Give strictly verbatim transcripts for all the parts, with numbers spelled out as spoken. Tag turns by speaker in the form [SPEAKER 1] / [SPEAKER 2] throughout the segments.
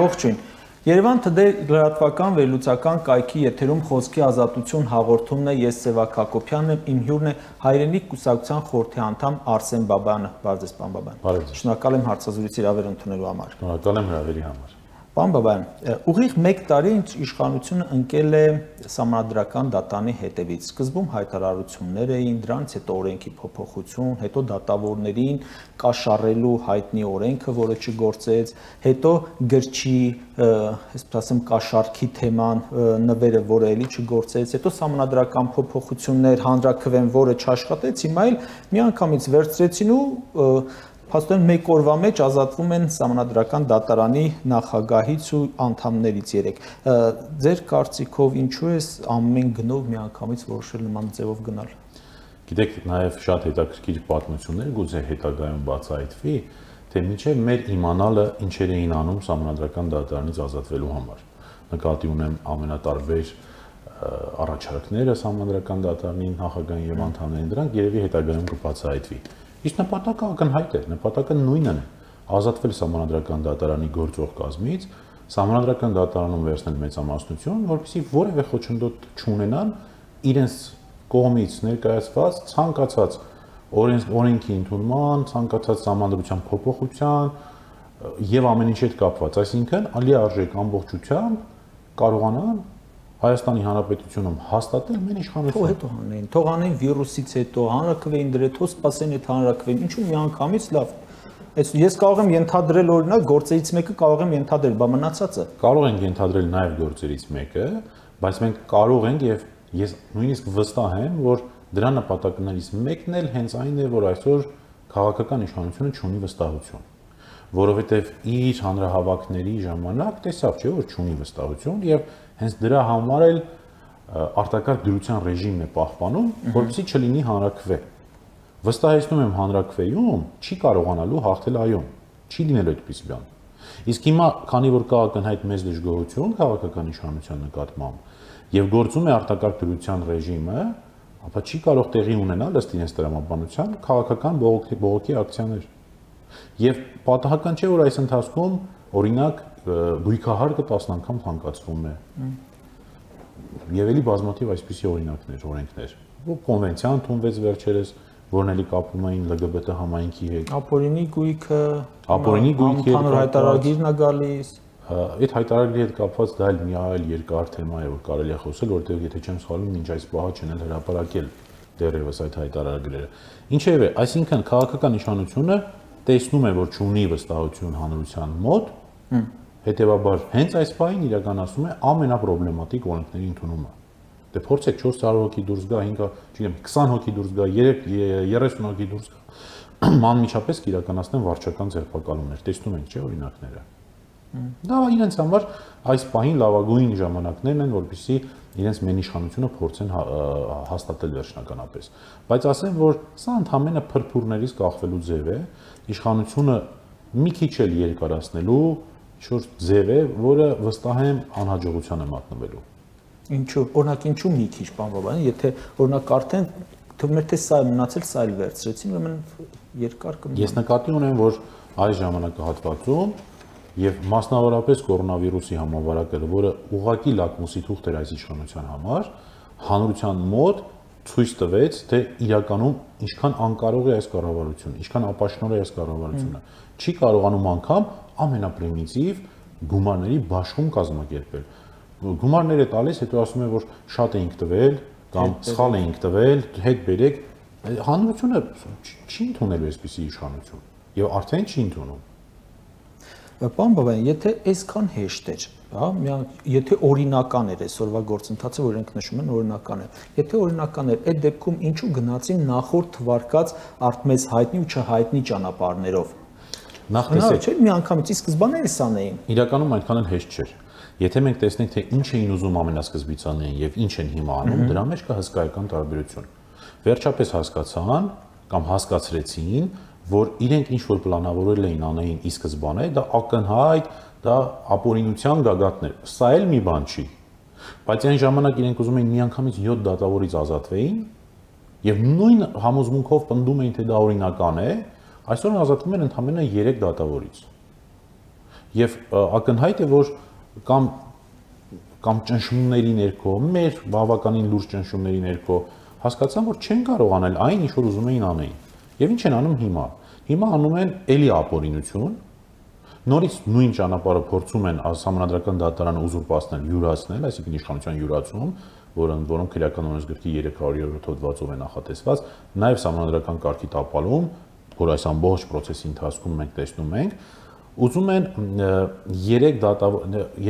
[SPEAKER 1] Ողջույն։ Երևան Today լրատվական վերլուծական կայքի եթերում խոսքի ազատություն հաղորդումն է, ես Սևակ Հակոբյանն եմ, իմ հյուրն է Հայրենիք կուսակցության խորհրդի անդամ Արսեն Բաբայանը։ Բարև ձեզ, պարոն Բաբայան։
[SPEAKER 2] Շնորհակալ
[SPEAKER 1] եմ հարցազրույցի հրավեր ընդունելու համար։
[SPEAKER 2] Շնորհակալ եմ հրավերի համար։
[SPEAKER 1] Պարոն Բաբայան, ուղիղ մեկ տարի ինչ իշխանությունը ընկել է Սահմանադրական դատարանի հետևից։ Սկզբում հայտարարություններ էին, դրանից հետո օրենքի փոփոխություն, հետո դատավորներին կաշառելու հայտնի օրենքը, որը չգործեց, հետո գրչի, այսպես ասեմ, կաշառքի թեման նվերը, որը էլի չգործեց, հետո Սահմանադրական փոփոխություններ, հանրաքվեն, որը չաշխատեց, հիմա էլ միանգամից վերցրեցին ու Փաստորեն մեկ օրվա մեջ ազատվում են Սահմանադրական դատարանի նախագահից ու անդամներից երեք։ Ձեր կարծիքով ինչու է ամեն գնով միանգամից որոշել նման ձևով գնալ։
[SPEAKER 2] Գիտեք, նաև շատ հետաքրքիր պատմություններ գուցե հետագայում բացահայտվի, թե մինչև մեր իմանալը ինչեր էին անում Սահմանադրական դատարանից ազատվելու համար։ Նկատի ունեմ ամենատարբեր առաջարկները Սահմանադրական դատարանի նախագահին եւ անդամներին, դրանք երևի հետագայում կբացահայտվի։ Իսկ նպատակը ակնհայտ է, նպատակը նույնն է՝ ազատվել Սահմանադրական դատարանի գործող կազմից, Սահմանադրական դատարանում վերցնել մեծամասնություն, որպեսզի որևէ խոչընդոտ չունենան իրենց կողմից ներկայացված ցանկացած օրենքի ընդունման, ցանկացած Սահմանադրության փոփոխության եւ ամեն ինչի հետ կապված, այսինքն ալիարժեք ամբողջությամբ կարողանան Հայաստանի Հանրապետությունում հաստատել մեր իշխանությունը։
[SPEAKER 1] Հետո հանեն, թող անեն վիրուսից հետո, հանրաքվեին դրել, թող սպասեն այդ հանրաքվեին, ինչու միանգամից լավ։ Այս ես կարող եմ ենթադրել օրինակ գործերից մեկը կարող եմ ենթադրել, բա մնացածը։
[SPEAKER 2] Կարող ենք ենթադրել նաև գործերից մեկը, բայց մենք կարող ենք եւ ես նույնիսկ վստահ եմ, որ դրա նպատակներից մեկն էլ հենց այն է, որ այսօր քաղաքական իշխանությունը չունի վստահություն, որովհետեւ իր հանրահավաքների ժամանակ տեսավ, չէ՞ որ չունի վստահություն եւ հենց դրա համար էլ արտակարգ դրության ռեժիմն է պահպանում, որպեսզի չլինի հանրաքվե։ Վստահեցնում եմ հանրաքվեում չի կարողանալու հաղթել այոն, չի լինելու այդպես բան։ Իսկ հիմա, քանի որ կա ակնհայտ մեծ դժգոհություն քաղաքական իշխանության նկատմամբ եւ գործում է արտակարգ դրության ռեժիմը, ապա չի կարող տեղի ունենալ ըստ իրենց տրամաբանության քաղաքական բողոքի բողոքի ակցիաներ։ Եվ պատահական չէ, որ այս ընթացքում օրինակ գույքահարկը տասն անգամ թանկացվում է։ Եվ էլի բազմաթիվ այսպիսի օրինակներ, օրենքներ։ Կոնվենցիա ընդունվեց վերջերս, որն էլի կապում էին L G B T համայնքի հետ։
[SPEAKER 1] Ապօրինի գույքը,
[SPEAKER 2] ապօրինի գույքի
[SPEAKER 1] հանրային հայտարարագիրն է գալիս։
[SPEAKER 2] Այդ հայտարարագրի հետ կապված դա էլ մի այլ երկար թեմա է, որ կարելի է խոսել, որտեղ եթե չեմ սխալվում, մինչ այս պահը չեն էլ հրապարակել դեռևս այդ հայտարարագրերը։ Ինչևէ, այսինքն քաղաքական իշխանությունը տեսնում է, որ չունի վստահություն հանրության մոտ, հետևաբար հենց այս պահին իրականացնում է ամենապրոբլեմատիկ օրենքների ընդունումը։ Դե փորձեք չորս հարյուր հոգի դուրս գա, հինգ, չգիտեմ, քսան հոգի դուրս գա, երեսուն հոգի դուրս գա, անմիջապես կիրականացնեն վարչական ձերբակալումներ, տեսնում ենք, չէ՞, օրինակները։ Դա իրենց համար այս պահին լավագույն ժամանակներն են, որպեսզի իրենց մեն իշխանությունը փորձեն հաստատել վերջնականապես։ Բայց ասեմ, որ սա ընդհանրապես փրփուրներից կախվելու ձև է, իշխանությունը մի քիչ էլ երկարացնելու ինչ-որ ձև է, որը վստահ եմ անհաջողության է մատնվելու։
[SPEAKER 1] Ինչու՞, օրինակ ինչու մի քիչ, պարոն Բաբայան, եթե օրինակ արդեն թվում է թե սա է մնացել, սա էլ վերցրեցին, ուրեմն երկար կմնա։
[SPEAKER 2] Ես նկատի ունեմ, որ այս ժամանակահատվածում եւ մասնավորապես կորոնավիրուսի համավարակը, որը ուղղակի լակմուսի թուղթ էր այս իշխանության համար, հանրության մոտ ցույց տվեց, թե իրականում ինչքան անկարող է այս կառավարությունը, ինչքան ապաշնոր է այս կառավարությունը։ Չի կարողանում անգամ ամենապրիմիտիվ գումարների բաշխում կազմակերպել։ Գումարներ է տալիս, հետո ասում է, որ շատ էինք տվել կամ սխալ էինք տվել, հետ բերեք։ Հանրությունը չի ընդունելու այսպիսի իշխանություն եւ արդեն չի ընդունում։
[SPEAKER 1] Պարոն Բաբայան, եթե այսքան հեշտ էր, հա, եթե օրինական էր այսօրվա գործընթացը, որ իրենք նշում են օրինական է։ Եթե օրինական էր, այդ դեպքում ինչու գնացին նախորդ թվարկած արդմեզ հայտնի ու չհայտնի ճանապարհներով։
[SPEAKER 2] Նախ տեսեք,
[SPEAKER 1] չէ՞ մի անգամից ի սկզբանե սան էին։
[SPEAKER 2] Իրականում այդքան էլ հեշտ չէր։ Եթե մենք տեսնենք, թե ինչ էին ուզում ամենասկզբից անեն եւ ինչ են հիմա անում, դրա մեջ կա հսկայական տարբերություն։ Վերջապես հասկացան կամ հասկացրեցին, որ իրենք ինչ որ պլանավորել էին անեին ի սկզբանե, դա ակնհայտ, դա ապօրինության գագաթներ։ Սա էլ մի բան չի։ Բայց այն ժամանակ իրենք ուզում էին միանգամից յոթ դատավորից ազատվեին եւ նույն համոզմունքով պնդում էին, թե դա օրինական է, այսօր ազատվում են ընդամենը երեք դատավորից։ եւ ակնհայտ է, որ կամ կամ ճնշումների ներքո, մեր բավականին լուրջ ճնշումների ներքո հասկացան, որ չեն կարող անել այն, ինչ որ ուզում էին անեին։ Եվ ինչ են անում հիմա։ Հիմա անում են էլի ապօրինություն, նորից նույն ճանապարհը փորձում են Սահմանադրական դատարանը ուզուրպացնել, յուրացնել, այսինքն իշխանության յուրացում, որոնք որոնք քրեական օրենսգրքի երեք հարյուր յոթ հոդվածով են նախատեսված, նաև Սահմանադրական կարգի տապալում, որ այս ամբողջ process-ի ընթացքում մենք տեսնում ենք, ուզում են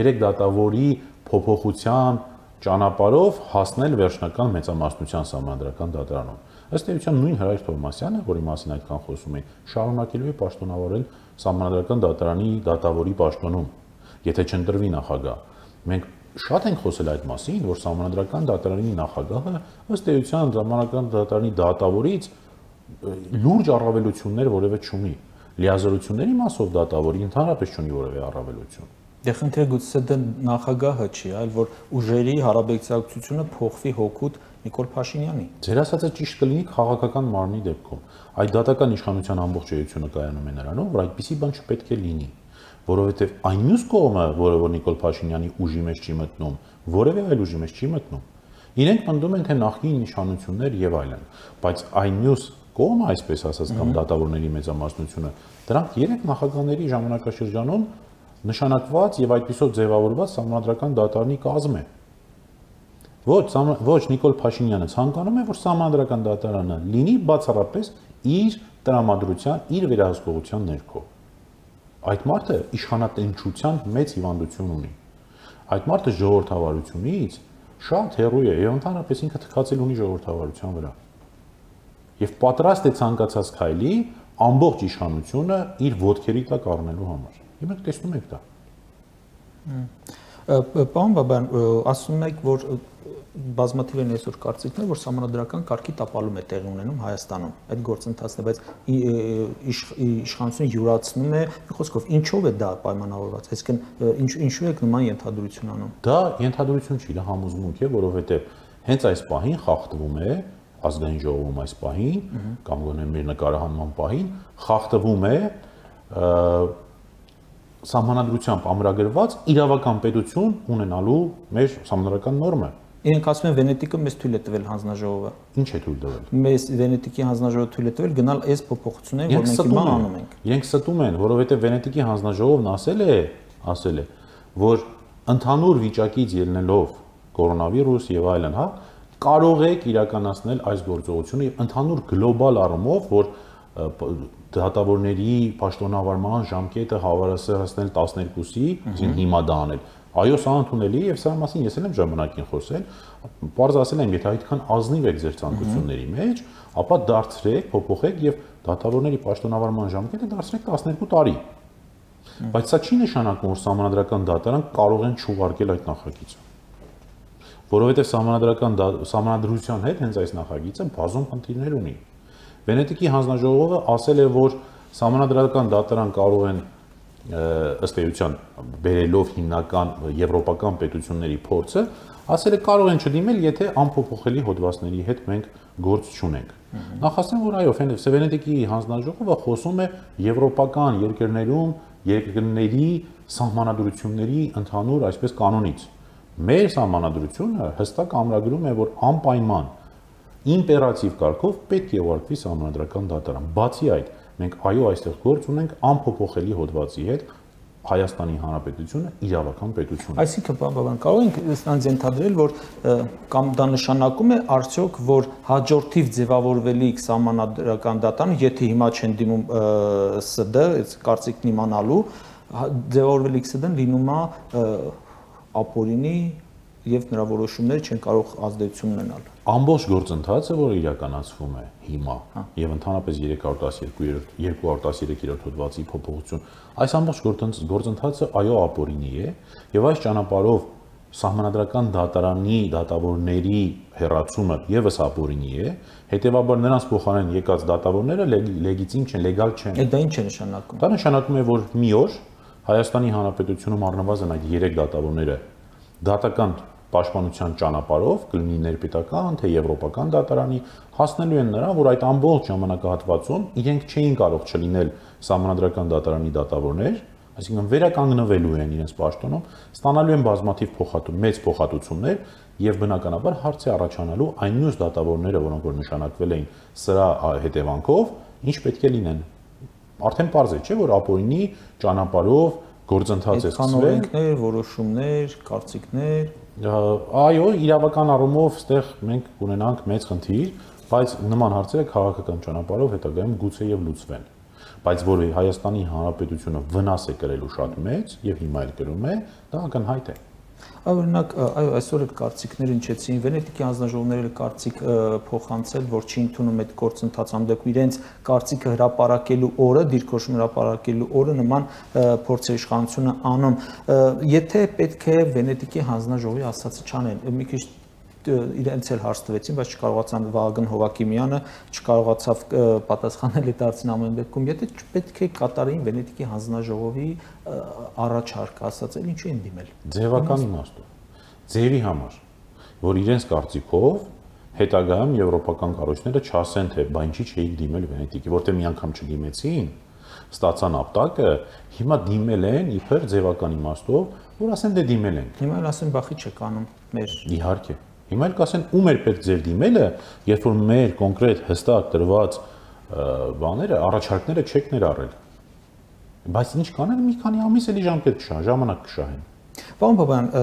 [SPEAKER 2] երեք դատավորի փոփոխության ճանապարհով հասնել վերջնական մեծամասնության Սահմանադրական դատարանում։ Ըստ էության նույն Հրայր Թովմասյանը, որի մասին այդքան խոսում էին, շարունակելու է պաշտոնավարել Սահմանադրական դատարանի դատավորի պաշտոնում, եթե չընտրվի նախագահ։ Մենք շատ ենք խոսել այդ մասին, որ Սահմանադրական դատարանի նախագահը ըստ էության Սահմանադրական դատարանի դատավորից լուրջ առավելություններ որևէ չունի։ Լիազորությունների մասով դատավորի ընդհանրապես չունի որևէ առավելություն։
[SPEAKER 1] Դե խնդիրը գուցե դա նախագահը չի, այլ որ ուժերի հարաբերակցությունը փոխվի հօգուտ Նիկոլ Փաշինյանի։
[SPEAKER 2] Ձեր ասածը ճիշտ կլինի քաղաքական մարմնի դեպքում։ Այդ դատական իշխանության ամբողջ էությունը կայանում է նրանով, որ այդպիսի բան չպետք է լինի, որովհետև այն մյուս կողմը, որը որ Նիկոլ Փաշինյանի ուժի մեջ չի մտնում, որևէ այլ ուժի մեջ չի մտնում, իրենք պնդում են, թե նախկին իշխանություններ եւ այլն, բայց այն մյուս կողմը, այսպես ասած, կամ դատավորների մեծամասնությունը, դրանք երեք նախագահների ժամանակաշրջանում նշանակված եւ այդպիսով ձևավորված Սահմանադրական դատարանի կազմ է։ Ոչ, ոչ Նիկոլ Փաշինյանը ցանկանում է, որ Սահմանադրական դատարանը լինի բացառապես իր տրամադրության, իր վերահսկողության ներքո։ Այդ մարդը իշխանատենչության մեծ հիվանդություն ունի։ Այդ մարդը ժողովրդավարությունից շատ հեռու է եւ ընդհանրապես ինքը թքածել ունի ժողովրդավարության վրա։ Եվ պատրաստ է ցանկացած քայլի ամբողջ իշխանությունը իր ոտքերի տակ առնելու համար։ Եվ մենք տեսնում ենք դա։
[SPEAKER 1] Պարոն Բաբայան, ասում եք, որ բազմաթիվ են այսօր կարծիքներ, որ Սահմանադրական կարգի տապալում է տեղի ունենում Հայաստանում։ Այդ գործընթացն է, բայց իշխանությունը յուրացնում է, մի խոսքով, ինչով է դա պայմանավորված։ Այսինքն ինչու եք նման ենթադրություն անում։
[SPEAKER 2] Դա ենթադրություն չի, դա համոզմունք է, որովհետև հենց այս պահին խախտվում է ազգային ժողովում այս պահին, կամ գոնե մեր նկարահանման պահին, խախտվում է Սահմանադրությամբ ամրագրված իրավական պետություն ունենալու մեր սահմանադրական նորմը։
[SPEAKER 1] Իրենք ասում են Վենետիկը մեզ թույլ է տվել հանձնաժողովը։
[SPEAKER 2] Ինչ է թույլ տվել։
[SPEAKER 1] Մեզ Վենետիկի հանձնաժողովը թույլ է տվել գնալ այս փոփոխությունները, որ մենք հիմա անում ենք։
[SPEAKER 2] Իրենք ստում են, որովհետև Վենետիկի հանձնաժողովն ասել է, ասել է, որ ընդհանուր վիճակից ելնելով կորոնավիրուս եւ այլն, հա, կարող եք իրականացնել այս գործողությունը ընդհանուր գլոբալ առումով, որ դատավորների պաշտոնավարման ժամկետը հավասարացնել տասներկուսի, այսինքն հիմա դա անել։ Այո, սա ընդունելի է եւ սա մասին ես էլ եմ ժամանակին խոսել, պարզ ասել եմ, եթե այդքան ազնիվ եք ձեր ցանկությունների մեջ, ապա դարձրեք, փոփոխեք եւ դատավորների պաշտոնավարման ժամկետը դարձրեք տասներկու տարի։ Բայց սա չի նշանակում, որ Սահմանադրական դատարան կարող են չուղարկել այդ նախագիծը։ Որովհետեւ Սահմանադրական Սահմանադրության հետ հենց այս նախագիծը բազում խնդիրներ ունի։ Վենետիկի հանձնաժողովը ասել է, որ Սահմանադրական դատարան կարող են ըստ էության բերելով հիմնական եվրոպական պետությունների փորձը, ասել է կարող են չդիմել, եթե անփոփոխելի հոդվածների հետ մենք գործ չունենք։ Նախասեմ, որ այո, Վենետիկի հանձնաժողովը խոսում է եվրոպական երկրներում երկրների սահմանադրությունների ընդհանուր այսպես կանոնից։ Մեր սահմանադրությունը հստակ ամրագրում է, որ անպայման իմպերատիվ կարգով պետք է ուղարկվի Սահմանադրական դատարան։ Բացի այդ, մենք այո այստեղ գործ ունենք անփոփոխելի հոդվածի հետ Հայաստանի Հանրապետությունը իրավական պետություն է։
[SPEAKER 1] Այսինքն, պարոն Բաբայան, կարող ենք ստանց ենթադրել, որ կամ դա նշանակում է արդյոք, որ հաջորդիվ ձևավորվելիք Սահմանադրական դատարանը, եթե հիմա չեն դիմում ՍԴ, այս կարծիքն իմանալու, ձևավորվելիք ՍԴ-ն լինում է ապօրինի եւ նրա որոշումները չեն կարող ազդեցություն ունենալ։
[SPEAKER 2] Ամբողջ գործընթացը, որը իրականացվում է հիմա եւ ընդհանրապես երեք հարյուր տասներկու հոդվածի փոփոխություն, այս ամբողջ գործընթացը այո ապօրինի է եւ այս ճանապարհով Սահմանադրական դատարանի դատավորների հեռացումը եւս ապօրինի է, հետեւաբար նրանց փոխարեն եկած դատավորները լեգիտիմ չեն, լեգալ չեն։
[SPEAKER 1] Դա ինչ է նշանակում։
[SPEAKER 2] Դա նշանակում է, որ մի օր Հայաստանի Հանրապետությունում առնվազն այդ երեք դատավորները դատական պաշտպանության ճանապարհով կլինի ներպետական, թե եվրոպական դատարանի, հասնելու են նրան, որ այդ ամբողջ ժամանակահատվածում իրենք չէին կարող չլինել Սահմանադրական դատարանի դատավորներ, այսինքն վերականգնվելու են իրենց պաշտոնում, ստանալու են բազմաթիվ փոխհատում, մեծ փոխհատուցումներ եւ բնականաբար հարց է առաջանալու այն մյուս դատավորները, որոնք որ նշանակվել էին սրա հետևանքով, ինչ պետք է լինեն։ Արդեն պարզ է, չէ՞, որ ապօրինի ճանապարհով գործընթաց է սկսվել։
[SPEAKER 1] Օրենքներ, որոշումներ, կարծիքներ։
[SPEAKER 2] Այո, իրավական առումով այստեղ մենք կունենանք մեծ խնդիր, բայց նման հարցերը քաղաքական ճանապարհով հետագայում գուցե եւ լուծվեն։ Բայց որ Հայաստանի Հանրապետությունը վնաս է կրելու շատ մեծ եւ հիմա էլ կրում է, դա ակնհայտ է։
[SPEAKER 1] Օրինակ, այո, այսօր այդ կարծիքները ինչեցին, Վենետիկի հանձնաժողովները կարծիք փոխանցել, որ չի ընդունում այդ գործընթացը, ամենդեպքում իրենց կարծիքը հրապարակելու օրը, դիրքորոշում հրապարակելու օրը նման փորձ է իշխանությունը անում։ Եթե պետք է Վենետիկի հանձնաժողովի ասածը չանեն, մի քիչ իրենց էլ հարց տվեցին, բայց չկարողացան Վահագն Հովակիմյանը չկարողացավ պատասխանել այդ հարցին ամեն դեպքում, եթե պետք է կատարեին Վենետիկի հանձնաժողովի առաջարկը, ասած էլ ինչու են դիմել։
[SPEAKER 2] Ձևական իմաստով, ձևի համար, որ իրենց կարծիքով հետագայում եվրոպական կառույցները չասեն, թե բա ինչի չէին դիմել Վենետիկի, որտեղ մի անգամ չդիմեցին, ստացան ապտակը, հիմա դիմել են իբր ձևական իմաստով, որ ասեն դե դիմել են։
[SPEAKER 1] Հիմա էլ ասեն բախի չեք անում մեր։
[SPEAKER 2] Իհարկե։ Հիմա էլ կասեն ում էր պետք ձեր դիմելը, երբ որ մեր կոնկրետ հստակ տրված բաները, առաջարկները չեք ներառել։ Բայց ինչ կանեն, մի քանի ամիս էլի ժամկետ կշահեն, ժամանակ կշահեն։
[SPEAKER 1] Պարոն Բաբայան,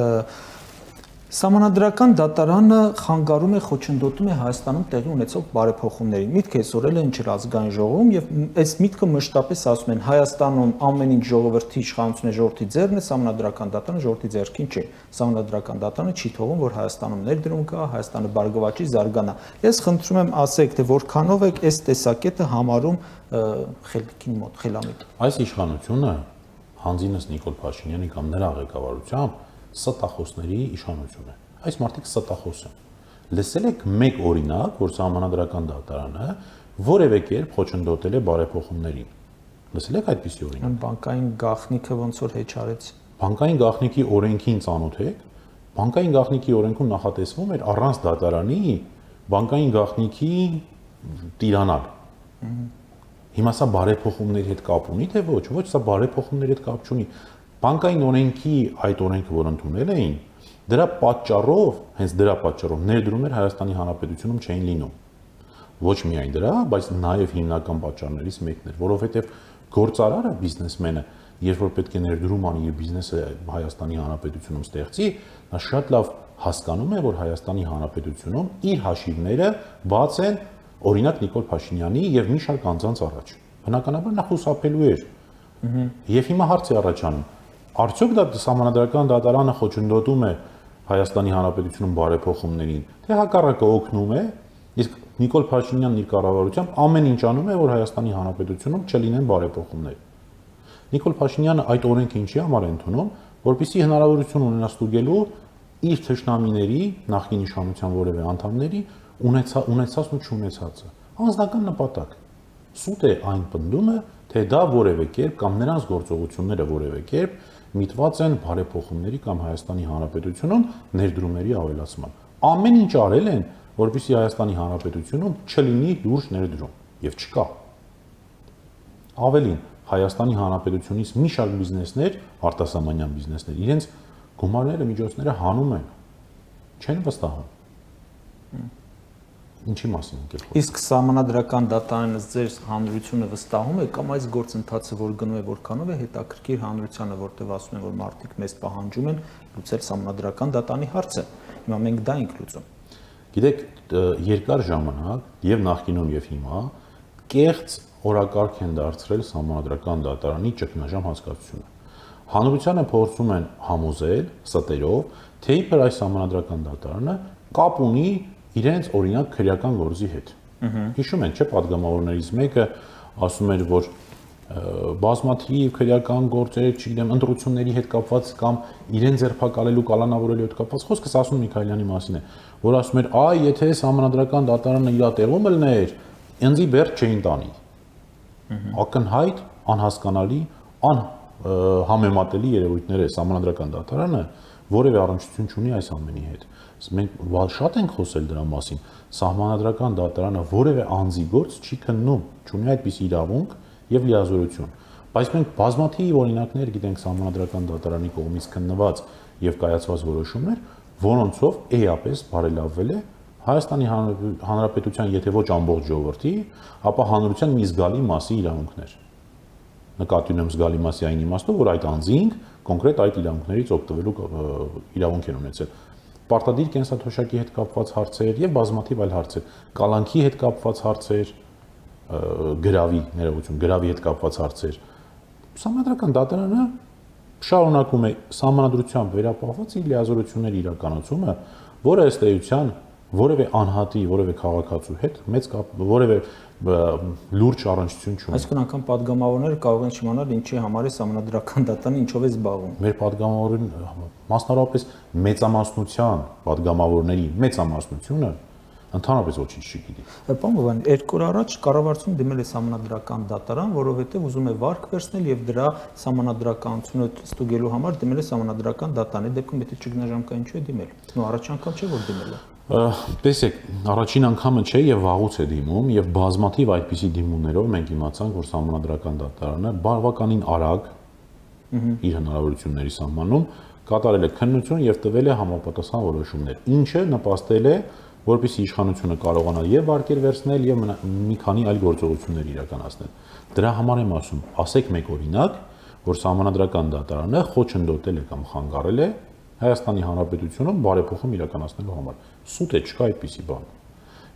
[SPEAKER 1] Սահմանադրական դատարանը խանգարում է, խոչընդոտում է Հայաստանում տեղի ունեցող բարեփոխումներին։ Միտքը սորել են Չրազգային ժողովում եւ այս միտքը մշտապես ասում են Հայաստանում ամեն ինչ ժողովրդի իշխանությունը ժողովրդի ձեռն է, Սահմանադրական դատարանը ժողովրդի ձեռքին չի։ Սահմանադրական դատարանը չի թողում, որ Հայաստանում ներդրում կա, Հայաստանը բարգավաճի, զարգանա։ Ես խնդրում եմ ասեք, թե որքանով եք այս տեսակետը համարում խելքին մոտ, խելամիտ։
[SPEAKER 2] Այս իշխանությունը Հանձինս Նիկոլ Փաշինյանի կամ նրա ղեկավարությամբ ստախոսների իշխանություն է։ Այս մարդիկ ստախոս են։ Լսել եք մեկ օրինակ, որ Սահմանադրական դատարանը որևէ կերպ խոչընդոտել է բարեփոխումներին։ Լսել եք այդպիսի օրինակ։
[SPEAKER 1] Բանկային գաղտնիքը ոնց որ հեչ արեց։
[SPEAKER 2] Բանկային գաղտնիքի օրենքին ծանոթ եք։ Բանկային գաղտնիքի օրենքում նախատեսվում էր առանց դատարանի բանկային գաղտնիքի տիրանալ։ Հիմա սա բարեփոխումների հետ կապ ունի, թե ոչ, ոչ, սա բարեփոխումների հետ կապ չունի։ Բանկային օրենքի այդ օրենքը, որ ընդունել էին, դրա պատճառով, հենց դրա պատճառով ներդրումներ Հայաստանի Հանրապետությունում չէին լինում։ Ոչ միայն դրա, բայց նաև հիմնական պատճառներից մեկն էր, որովհետև գործարարը, բիզնեսմենը, երբ որ պետք է ներդրում անի եւ բիզնեսը Հայաստանի Հանրապետությունում ստեղծի, նա շատ լավ հասկանում է, որ Հայաստանի Հանրապետությունում իր հաշիվները բաց են, օրինակ Նիկոլ Փաշինյանի եւ մի շարք անձանց առաջ։ Բնականաբար նա խուսափելու էր։ Եվ հիմա հարց է առաջանում. արդյոք դա Սահմանադրական դատարանը խոչընդոտում է Հայաստանի Հանրապետությունում բարեփոխումներին, թե հակառակը օգնում է, իսկ Նիկոլ Փաշինյանն իր կառավարությամբ ամեն ինչ անում է, որ Հայաստանի Հանրապետությունում չլինեն բարեփոխումներ։ Նիկոլ Փաշինյանը այդ օրենքը ինչի համար է ընդունում, որպեսզի հնարավորություն ունենա ստուգելու իր թշնամիների, նախկին իշխանության որևէ անդամների ունեցա, ունեցածն ու չունեցածը։ Անձնական նպատակ։ Սուտ է այն պնդումը, թե դա որևէ կերպ կամ նրանց գործողությունները որևէ կերպ միտված են բարեփոխումների կամ Հայաստանի Հանրապետությունում ներդրումների ավելացման։ Ամեն ինչ արել են, որպեսզի Հայաստանի Հանրապետությունում չլինի լուրջ ներդրում, եւ չկա։ Ավելին, Հայաստանի Հանրապետությունից մի շարք բիզնեսներ, արտասահմանյան բիզնեսներ, իրենց գումարները, միջոցները հանում են, չեն վստահում։ Ինչի մասին եք խոսում։
[SPEAKER 1] Իսկ Սահմանադրական դատարանը ձեր հանրությունը վստահում է կամ այս գործընթացը, որ գնում է որքանով է հետաքրքիր հանրությանը, որտեղ ասում են, որ մարդիկ մեզ պահանջում են լուծել Սահմանադրական դատարանի հարցը։ Հիմա մենք դա ենք լուծում։
[SPEAKER 2] Գիտեք, երկար ժամանակ եւ նախկինում եւ հիմա կեղծ օրակարգ են դարձրել Սահմանադրական դատարանի ճգնաժամ հասկացությունը։ Հանրությանը փորձում են համոզել ստերով, թե իբր այս Սահմանադրական դատարանը կապ ունի իրենց օրինակ քրեական գործի հետ։ Հիշում եք, չէ՞, падգամավորներից մեկը ասում էր, որ բազմաթիվ քրեական գործեր, չգիտեմ, ընտրությունների հետ կապված կամ իրեն ձերբակալելու, կալանավորելու հետ կապված խոսքը Սասուն Միքայելյանի մասին է, որ ասում էր, այ եթե Սահմանադրական դատարանը իր տեղում ելներ, ինձի բերդ չէին տանի։ Ակնհայտ, անհասկանալի, անհամեմատելի երևույթներ է Սահմանադրական դատարանը, որևէ առնչություն չունի այս ամենի հետ։ Մենք շատ ենք խոսել դրա մասին։ Սահմանադրական դատարանը որևէ անձի գործ չի քննում, չունի այդպիսի իրավունք եւ լիազորություն։ Բայց մենք բազմաթիվ օրինակներ գիտենք Սահմանադրական դատարանի կողմից քննված եւ կայացված որոշումներ, որոնցով էապես բարելավվել է Հայաստանի Հանրապետության, եթե ոչ ամբողջ ժողովրդի, ապա հանրության մի զգալի մասի իրավունքներ։ Նկատի ունեմ զգալի մասի այն իմաստով, որ այդ անձինք կոնկրետ այդ իրավունքներից օգտվելու իրավունք են ունեցել։ Պարտադիր կենսաթոշակի հետ կապված հարցեր եւ բազմաթիվ այլ հարցեր, կալանքի հետ կապված հարցեր, գրավի ներողություն, գրավի հետ կապված հարցեր։ Սահմանադրական դատարանը շարունակում է սահմանադրությամբ վերապահված իր լիազորությունների իրականացումը, որը ըստ էության որևէ անհատի, որևէ քաղաքացու հետ մեծ կապ, որևէ լուրջ առնչություն չունի։
[SPEAKER 1] Այսինքն անգամ падգամավորները կարող են չիմանալ ինչի համար է Սահմանադրական դատարանը ինչով է զբաղվում։
[SPEAKER 2] Մեր падգամավորին մասնավորապես մեծամասնության падգամավորների մեծամասնությունը ընդհանրապես ոչինչ չգիտի։
[SPEAKER 1] Պարոն Բաբայան, երկու օր առաջ կառավարությունը դիմել է Սահմանադրական դատարան, որովհետև ուզում է վարկ վերցնել եւ դրա սահմանադրականությունը ստուգելու համար դիմել է Սահմանադրական դատարանի դեպքում եթե ճգնաժամկա ինչու է դիմել։ Նո առաջին անգամ չէ որ դիմել է։
[SPEAKER 2] Տեսեք, առաջին անգամը չէ եւ վաղուց է դիմում եւ բազմաթիվ այդպիսի դիմումներով մենք իմացանք, որ Սահմանադրական դատարանը բավականին արագ իր հնարավորությունների սահմանում կատարել է քննություն եւ տվել է համապատասխան որոշումներ, ինչը նպաստել է որպեսզի իշխանությունը կարողանա եւ վարկեր վերցնել եւ մի քանի այլ գործողություններ իրականացնել։ Դրա համար եմ ասում, ասեք մեկ օրինակ, որ Սահմանադրական դատարանը խոչընդոտել է կամ խանգարել է Հայաստանի Հանրապետությունում բարեփոխում իրականացնելու համար։ Սուտ է, չկա այդպիսի բան։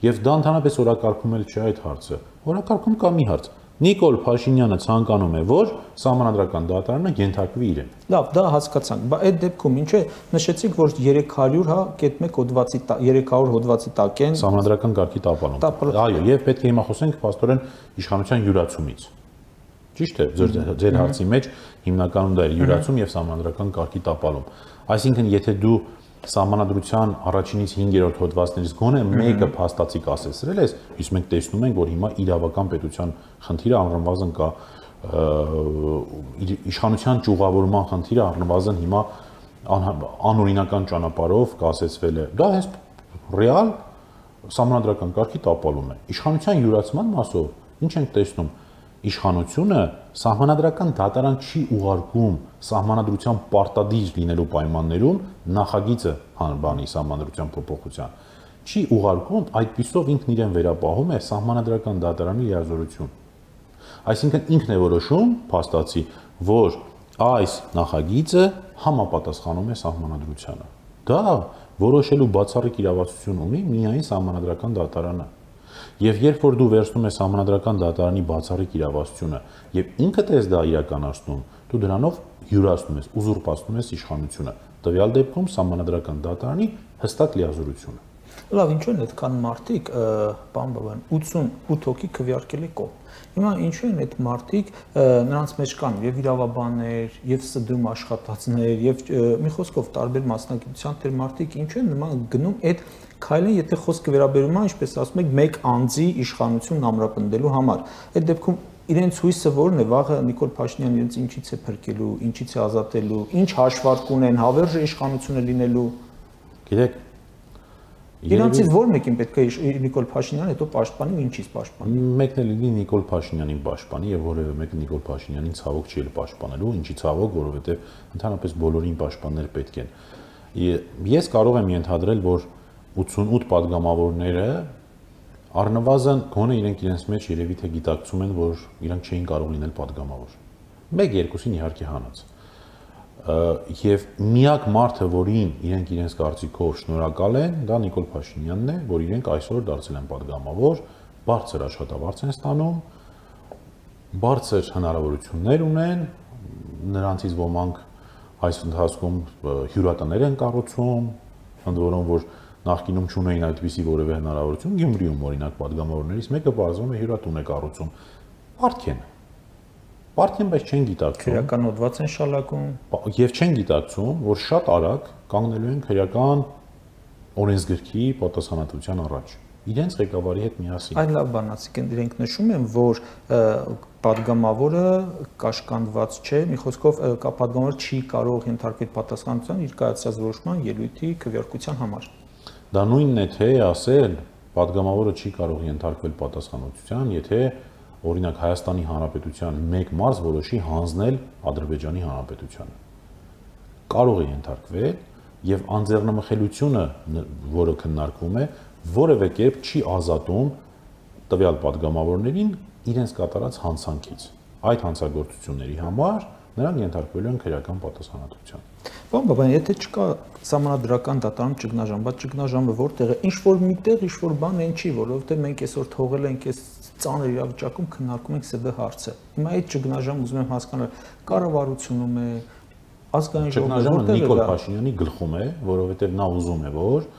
[SPEAKER 2] Եվ դա ընդհանրապես օրակարգում էլ չէ այդ հարցը։ Օրակարգում կա մի հարց։ Նիկոլ Փաշինյանը ցանկանում է, որ Սահմանադրական դատարանը ենթարկվի իրեն։
[SPEAKER 1] Լավ, դա հասկացանք, բայց այդ դեպքում ինչ է նշեցիք, որ երեք հարյուր հա կետ մեկ հոդվածի երեք հարյուր հոդվածի տակ են
[SPEAKER 2] Սահմանադրական կարգի տապալում։ Այո, եւ պետք է հիմա խոսենք փաստորեն իշխանության յուրացումից։ Ճիշտ է, ձեր ձեր հարցի մեջ հիմնականում դա է յուրացում եւ Սահմանադրական կարգի տապալում։ Այսինքն, եթե դու Սահմանադրության առաջինից հինգերորդ հոդվածներից գոնե մեկը փաստացի կասեցրել ես, իսկ մենք տեսնում ենք, որ հիմա իրավական պետության խնդիրը առնվազն կա իշխանության ճյուղավորման խնդիրը առնվազն հիմա անօրինական ճանապարհով կասեցվել է։ Դա հենց ռեալ Սահմանադրական կարգի տապալում է։ Իշխանության յուրացման մասով ինչ ենք տեսնում։ Իշխանությունը Սահմանադրական դատարան չի ուղարկում Սահմանադրության պարտադիր լինելու պայմաններում նախագիծը հանրբանի Սահմանադրության փոփոխության չի ուղարկում, այդպիսով ինքն իրեն վերապահում է Սահմանադրական դատարանի լիազորություն։ Այսինքն ինքն է որոշում փաստացի, որ այս նախագիծը համապատասխանում է Սահմանադրությանը։ Դա որոշելու բացառիկ իրավասություն ունի միայն Սահմանադրական դատարանը։ Եվ երբ որ դու վերցնում ես Սահմանադրական դատարանի բացառիկ իրավասությունը եւ ինքդ ես դա իրականացնում, դու դրանով յուրացնում ես, ուզուրպացնում ես իշխանությունը։ Տվյալ դեպքում Սահմանադրական դատարանի հստակ լիազորությունը։
[SPEAKER 1] Լավ, ինչու են այդքան մարդիկ, պարոն Բաբայան, ութսունութ հոգի քվեարկել է կողմ։ Հիմա ինչու են այդ մարդիկ, նրանց մեջ կան եւ իրավաբաններ, եւ ՍԴՄ աշխատածներ, եւ մի խոսքով տարբեր մասնագիտության տեր մարդիկ, ինչու են նման գնում այդ քայլին, եթե խոսքը վերաբերում է, ինչպես ասում եք, մեկ անձի իշխանությունն ամրապնդելու համար։ Այդ դեպքում իրենց հույսը ո՞րն է, վաղը Նիկոլ Փաշինյանը իրենց ինչից է փրկելու, ինչից է ազատելու, ինչ հաշվարկ ունեն, հավերժ իշխանությունը լինելու։
[SPEAKER 2] Գիտեք,
[SPEAKER 1] Իրանցից ո՞ր մեկին պետք է Նիկոլ Փաշինյանը հետո պաշտպանի ու ինչից պաշտպանի։
[SPEAKER 2] Մեկն էլ լինի Նիկոլ Փաշինյանին պաշտպանի եւ որևէ մեկը Նիկոլ Փաշինյանին ցավոք չի էլ պաշտպանելու, ինչի ցավոք, որովհետեւ ընդհանրապես բոլորին պաշտպաններ պետք են։ Ես կարող եմ ենթադրել, որ ութսունութ падգամավորները առնվազն գոնե իրենք իրենց մեջ երևի թե գիտակցում են, որ իրանք չէին կարող լինել падգամավոր։ Մեկ-երկուսին իհարկե հանած։ Եվ միակ մարդը, որին իրենք իրենց կարծիքով շնորհակալ են, դա Նիկոլ Փաշինյանն է, որ իրենք այսօր դարձել են падգամավոր, բարձր աշխատավարձ են ստանում, բարձր հնարավորություններ ունեն, նրանցից ոմանք այս ընթացքում հյուրատներ են կառուցում, ընդ որում որ նախկինում չունեին այդպիսի որևէ հնարավորություն, Գյումրիում օրինակ падգամավորներից մեկը բարձրում է հյուրատուն է կառուցում, բարդ են։ Բարդ են, բայց չեն գիտակցում։
[SPEAKER 1] Քրեական հոդված են շալակում։
[SPEAKER 2] Եվ չեն գիտակցում, որ շատ արագ կանգնելու են քրեական օրենսգրքի պատասխանատվության առաջ։ Իրենց ղեկավարի հետ միասին։
[SPEAKER 1] Այլ լավ բանացիք են, իրենք նշում են, որ падգամավորը կաշկանդված չէ, մի խոսքով падգամավորը չի կարող ենթարկվել պատասխանատվության իր կայացած որոշման ելույթի քվեարկության համար։
[SPEAKER 2] Դա նույնն է թե ասել, падգամավորը չի կարող ենթարկվել պատասխանատվության, եթե օրինակ Հայաստանի Հանրապետության մեկ մարզ որոշի հանձնել Ադրբեջանի Հանրապետությանը։ Կարող է ենթարկվել եւ անձեռնմխելիությունը, որը քննարկվում է, որևէ կերպ չի ազատում տվյալ падգամավորներին իրենց կատարած հանցանքից։ Այդ հանցագործությունների համար նրանք ենթարկվելու են քրեական պատասխանատվության։
[SPEAKER 1] Պարոն Բաբայան, եթե չկա սահմանադրական դատարան ճգնաժամ, բայց ճգնաժամը որտեղ է, ինչ որ միտեղ, ինչ որ բան են չի, որովհետեւ մենք այսօր թողել ենք այս ծանր իրավիճակում քննարկում ենք ՍԴ հարցը։ Հիմա այդ ճգնաժամ ուզում եմ հասկանալ, կառավարությունում է, ազգային ժողովը որտեղ է։
[SPEAKER 2] Նիկոլ Փաշինյանի գլխում է, որովհետեւ նա ուզում է, որ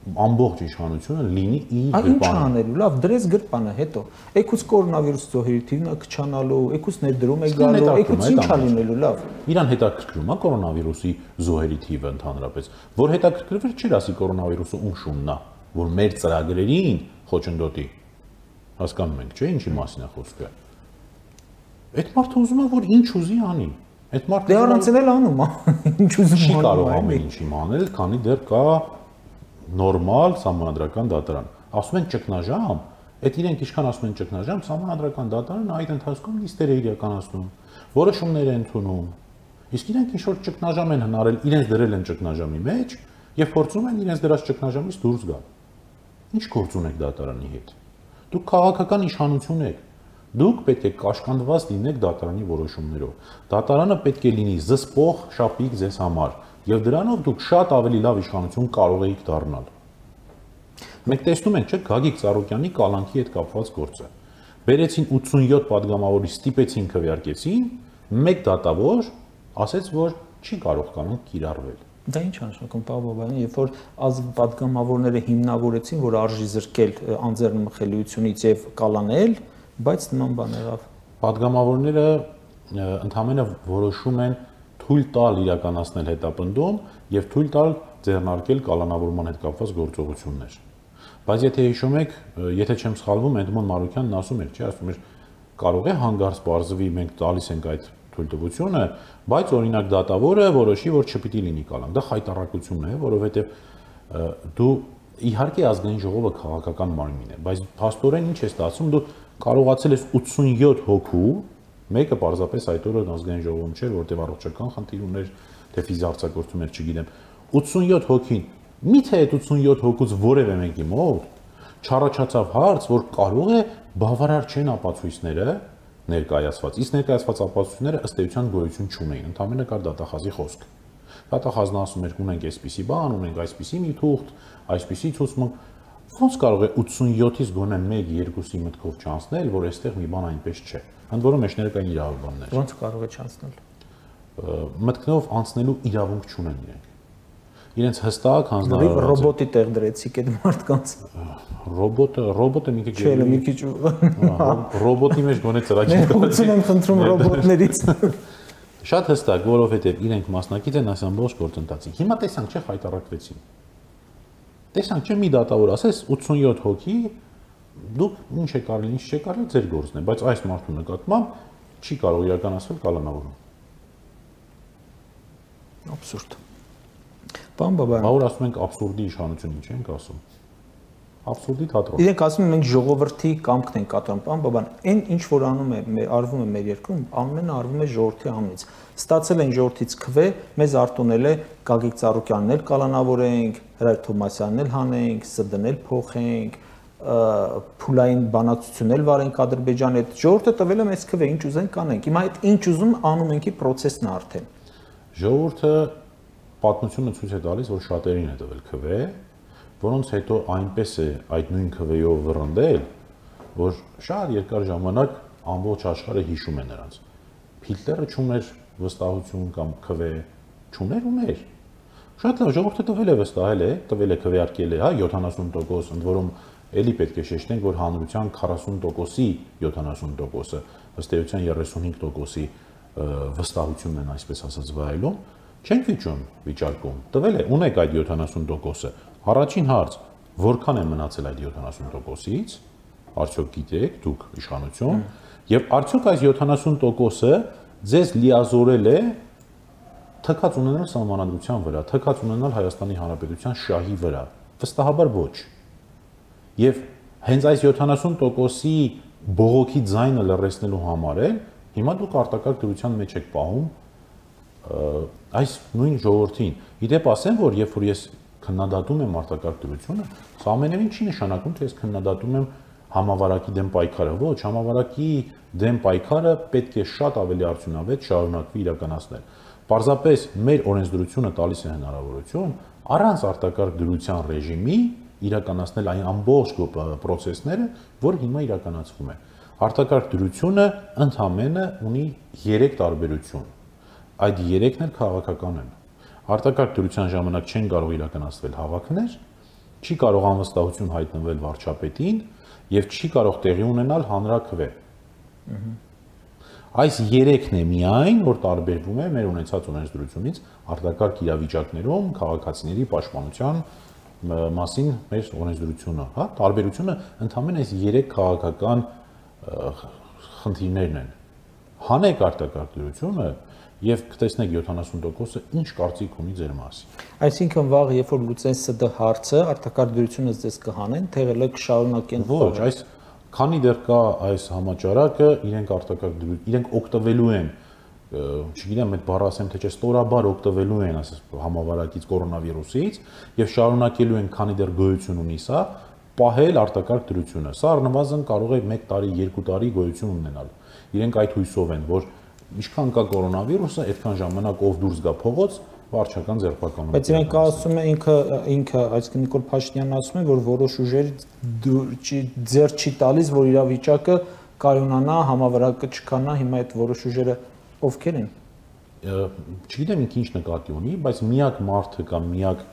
[SPEAKER 2] ամբողջ իշխանությունը լինի իր
[SPEAKER 1] գրպանը։ Ինչ անելու, լավ, դրես գրպանը, հետո եկուց կորոնավիրուս զոհերի թիվն քչանալու, եկուց ներդրում է գալու, եկուց ինչ ա լինելու, լավ։
[SPEAKER 2] Իրան հետաքրքրում է կորոնավիրուսի զոհերի թիվը ընդհանրապես, որ հետաքրքրվեր չէր ասի կորոնավիրուսը ում շունն է, որ մեր ծրագրերին խոչընդոտի։ Հասկանում ենք, չէ՞, ինչի մասին է խոսքը։ Այդ մարդը ուզում է, որ ինչ ուզի անի։ Այդ մարդը
[SPEAKER 1] դե առանց էլ անում, ինչ ուզում
[SPEAKER 2] չի կարող ամեն ինչ իմանալ, քանի դեռ կա նորմալ սահմանադրական դատարան։ Ասում են ճգնաժամ, այդ իրենք ինչքան ասում են ճգնաժամ, սահմանադրական դատարանը այդ ընթացքում նիստեր է իրականացնում, որոշումներ են ընդունում։ Իսկ իրենք ինչ որ ճգնաժամ են հնարել, իրենց դրել են ճգնաժամի մեջ եւ փորձում են իրենց դրած ճգնաժամից դուրս գալ։ Ինչ գործ ունեք դատարանի հետ։ Դուք քաղաքական իշխանություն եք։ Դուք պետք է կաշկանդված լինեք դատարանի որոշումներով։ Դատարանը պետք է լինի զսպող շապիկ ձեզ համար։ Եվ դրանով դուք շատ ավելի լավ իշխանություն կարող եք դառնալ։ Մենք տեսնում ենք, չէ՞, Գագիկ Ծառուկյանի կալանքի հետ կապված գործը։ Բերեցին ութսունյոթ падգամավորի, ստիպեցին քվեարկեցին, մեկ դատավոր ասեց, որ չի կարող կանոն կիրառվել։
[SPEAKER 1] Դա ինչ անշանակում, պարոն Բաբայան, երբ որ ազգ падգամավորները հիմնավորեցին, որ արժի զրկել անձեռնմխելիությունից եւ կալանել, բայց նման բան եղավ։
[SPEAKER 2] Падգամավորները ընդհանրապես որոշում են թույլ տալ իրականացնել հետապնդում եւ թույլ տալ ձեռնարկել կալանավորման հետ կապված գործողություններ։ Բայց եթե հիշում եք, եթե չեմ սխալվում, Էդմոն Մարուկյանն ասում էր, չէ, ասում էր, կարող է հանգարց բարձվի, մենք տալիս ենք այդ թույլտվությունը, բայց օրինակ դատավորը որոշի, որ չպիտի լինի կալան։ Դա խայտառակություն է, որովհետեւ դու իհարկե ազգային ժողովը քաղաքական մարմին է, բայց փաստորեն ինչ է ստացվում, դու կարողացել ես ութսունյոթ հոգու մեկը պարզապես այդ օրը ազգային ժողովում չէր, որտեղ առողջական խնդիր ուներ, թե ֆիզիարցակորցում էր, չգիտեմ։ ութսունյոթ հոգին, միթե այդ ութսունյոթ հոգուց որևէ մեկի մոտ չառաջացավ հարց, որ կարող է բավարար չեն ապացույցները ներկայացված։ Իսկ ներկայացված ապացույցները ըստ էության գոյություն չունեին, ընդհանրապես կար դատախազի խոսք։ Դատախազն ասում էր, ունենք այսպիսի բան, ունենք այսպիսի մի թուղթ, այսպիսի ցուցմունք։ Ոնց կարող է ութսունյոթից գոնե մեկ երկուսի մտքով չանցնել, որ այստեղ մի բան այնպես չէ։ Ընդ որում մեջները կային իրավաբաններ։
[SPEAKER 1] Ոնց կարող է չանցնել։
[SPEAKER 2] Մտքնով անցնելու իրավունք չունեն իրենք։ Իրենց հստակ հանձնարարված է։
[SPEAKER 1] Ռոբոտի տեղ դրեցիք այդ մարդկանց։
[SPEAKER 2] Ռոբոտը, ռոբոտը մի քիչ
[SPEAKER 1] չէ, մի քիչ
[SPEAKER 2] ռոբոտի մեջ գոնե ծրագիր կա։
[SPEAKER 1] Ուսում եմ խնդրում ռոբոտներից։
[SPEAKER 2] Շատ հստակ, որովհետև իրենք մասնակից են այս ամբողջ գործընթացին։ Հիմա տեսանք, չէ, խայտառակվեցին։ Տեսանք, չէ, մի դատավոր ասես ութսունյոթ հոգի, դուք ինչ է կարելի, ինչ չէ կարելի, ձեր գործն է, բայց այս մարդու նկատմամբ չի կարող իրականացվել կալանավորում։
[SPEAKER 1] Աբսուրդ։ Պարոն Բաբայան,
[SPEAKER 2] բա որ ասում ենք աբսուրդի իշխանություն, ինչ ենք ասում։ Աբսուրդի թատրոն։
[SPEAKER 1] Իրենք ասում են մենք ժողովրդի կամքն ենք կատարում, պարոն Բաբայան, այն ինչ որ անում է, արվում է մեր երկրում, ամենը արվում է ժողովրդի անունից։ Ստացել են ժողովրդից քվե, մեզ արտոնել է Գագիկ Ծառուկյանն էլ կալանավորենք, Հրայր Թոմասյանն էլ հանենք, ՍԴ-ն էլ փոխենք, փուլային բանակցություն էլ վարենք Ադրբեջանի հետ։ Ժողովուրդը տվել է մեզ քվե, ինչ ուզենք կանենք։ Հիմա այդ ինչ ուզում անում ենք ի պրոցեսն է արդեն։
[SPEAKER 2] Ժողովուրդը պատմությունը ցույց է տալիս, որ շատերին է տվել քվե, որոնց հետո այնպես է այդ նույն քվեով վռնդել, որ շատ երկար ժամանակ ամբողջ աշխարհը հիշում է նրանց։ Հիտլերը չուներ վստահություն կամ քվե, չուներ ուներ։ Շատ լավ, ժողովուրդը տվել է վստահել է, տվել է քվեարկել է, հա, յոթանասուն տոկոս, ընդ որում էլի պետք է շեշտենք, որ հանրության քառասուն տոկոսի յոթանասուն տոկոսը, ըստ էության երեսունհինգ տոկոսի վստահությունն են այսպես ասած վայելում, չենք վիճում վիճարկում։ Տվել է, ունեք այդ յոթանասուն տոկոսը։ Առաջին հարց, որքան է մնացել այդ յոթանասուն տոկոսից, արդյոք գիտեք դուք իշխանություն, եւ արդյոք այս յոթանասուն տոկոսը ձեզ լիազորել է թքած ունենալ սահմանադրության վրա, թքած ունենալ Հայաստանի Հանրապետության շահի վրա։ Վստահաբար ոչ։ Եվ հենց այս յոթանասուն տոկոսի բողոքի ձայնը լռեցնելու համար էլ հիմա դուք արտակարգ դրության մեջ եք պահում այս նույն ժողովրդին։ Իդեպ ասեմ, որ երբ որ ես քննադատում եմ արտակարգ դրությունը, սա ամենևին չի նշանակում, թե ես քննադատում եմ համավարակի դեմ պայքարը, ոչ, համավարակի դեմ պայքարը պետք է շատ ավելի արդյունավետ շարունակվի իրականացնել։ Պարզապես մեր օրենսդրությունը տալիս է հնարավորություն առանց արտակարգ դրության ռեժիմի իրականացնել այն ամբողջ process-ները, որ հիմա իրականացվում է։ Արտակարգ դրությունը ընդհանրապես ունի երեք տարբերություն։ Այդ երեքն էլ քաղաքական են։ Արտակարգ դրության ժամանակ չեն կարող իրականացվել հավաքներ, չի կարող անվստահություն հայտնվել վարչապետին եւ չի կարող տեղի ունենալ հանրաքվե։ Այս երեքն է միայն, որ տարբերվում է մեր ունեցած օրենսդրությունից արտակարգ իրավիճակներում քաղաքացիների պաշտպանության մասին մեր օրենսդրությունը, հա, տարբերությունը ընդհանրապես այս երեք քաղաքական խնդիրներն են։ Հանեք արտակարգ դրությունը եւ կտեսնեք յոթանասուն տոկոսը ինչ կարծիք ունի ձեր մասին։
[SPEAKER 1] Այսինքն վաղ երբ որ լուծեն ՍԴ հարցը, արտակարգ դրությունը ձեզ կհանեն, թեղելը կշարունակեն։
[SPEAKER 2] Ոչ, այս քանի դեռ կա այս համաճարակը, իրենք արտակարգ դրություն, իրենք օգտվելու են, չգիտեմ, այդ բառը ասեմ թե չէ, ստորաբար օգտվելու են ասես համավարակից կորոնավիրուսից եւ շարունակելու են, քանի դեռ գոյություն ունի սա, պահել արտակարգ դրությունը։ Սա առնվազն կարող է մեկ տարի, երկու տարի գոյություն ունենալ։ Իրենք այդ հույսով են, որ ինչքան կա կորոնավիրուսը, այդքան ժամանակ ով դուրս գա փողոց, վարչական ձերբակալում։
[SPEAKER 1] Բայց իրենք ասում են ինքը ինքը, այսինքն Նիկոլ Փաշինյանն ասում է, որ որոշ ուժեր ձեռ չի տալիս, որ իրավիճակը կայունանա, համավարակը չքանա, հիմա այդ որոշ ուժերը ովքեր են։
[SPEAKER 2] Չգիտեմ ինքը ինչ նկատի ունի, բայց միակ մարդը կամ միակ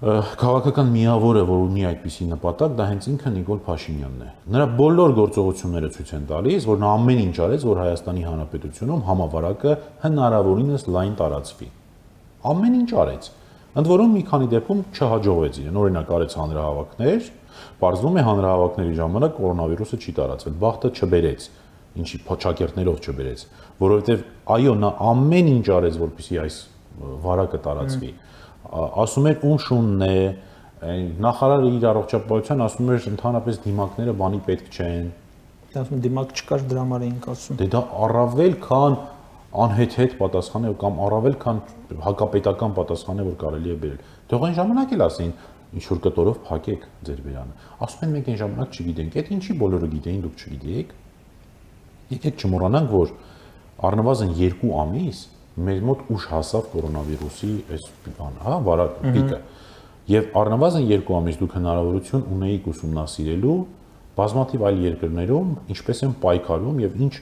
[SPEAKER 2] քաղաքական միավորը, որ ունի այդպիսի նպատակ, դա հենց ինքը Նիկոլ Փաշինյանն է։ Նրա բոլոր գործողությունները ցույց են տալիս, որ նա ամեն ինչ արեց, որ Հայաստանի Հանրապետությունում համավարակը հնարավորինս լայն տարածվի։ Ամեն ինչ արեց։ Ընդ որում մի քանի դեպքում չհաջողվեց իրեն։ Օրինակ արեց հանրահավաքներ, պարզվում է հանրահավաքների ժամանակ կորոնավիրուսը չի տարածվել, բախտը չբերեց, ինչի փոչակերտներով չբերեց, որովհետև այո, նա ամեն ինչ արեց, որպեսզի այս վարակը տարածվի։ Ասում էր ում շունն է, նախարարը իր առողջապահության ասում էր ընդհանրապես դիմակները բանի պետք չեն։
[SPEAKER 1] Ասում դիմակ չկար, դրա համար էինք ասում։
[SPEAKER 2] Դե դա առավել քան անհեթեթ պատասխան է կամ առավել քան հակապետական պատասխան է, որ կարելի է բերել։ Թող այն ժամանակ էլ ասեին ինչ որ կտորով փակեք ձեր բերանը։ Ասում են մենք այն ժամանակ չգիտենք, այդ ինչի բոլորը գիտեին, դուք չգիտեիք։ Եկեք չմոռանանք, որ առնվազն երկու ամիս մեր մոտ ուշ հասավ կորոնավիրուսի այս բանը, հա, վարակ պիկը։ Եվ առնվազն երկու ամիս դուք հնարավորություն ունեիք ուսումնասիրելու բազմաթիվ այլ երկրներում ինչպես են պայքարում եւ ինչ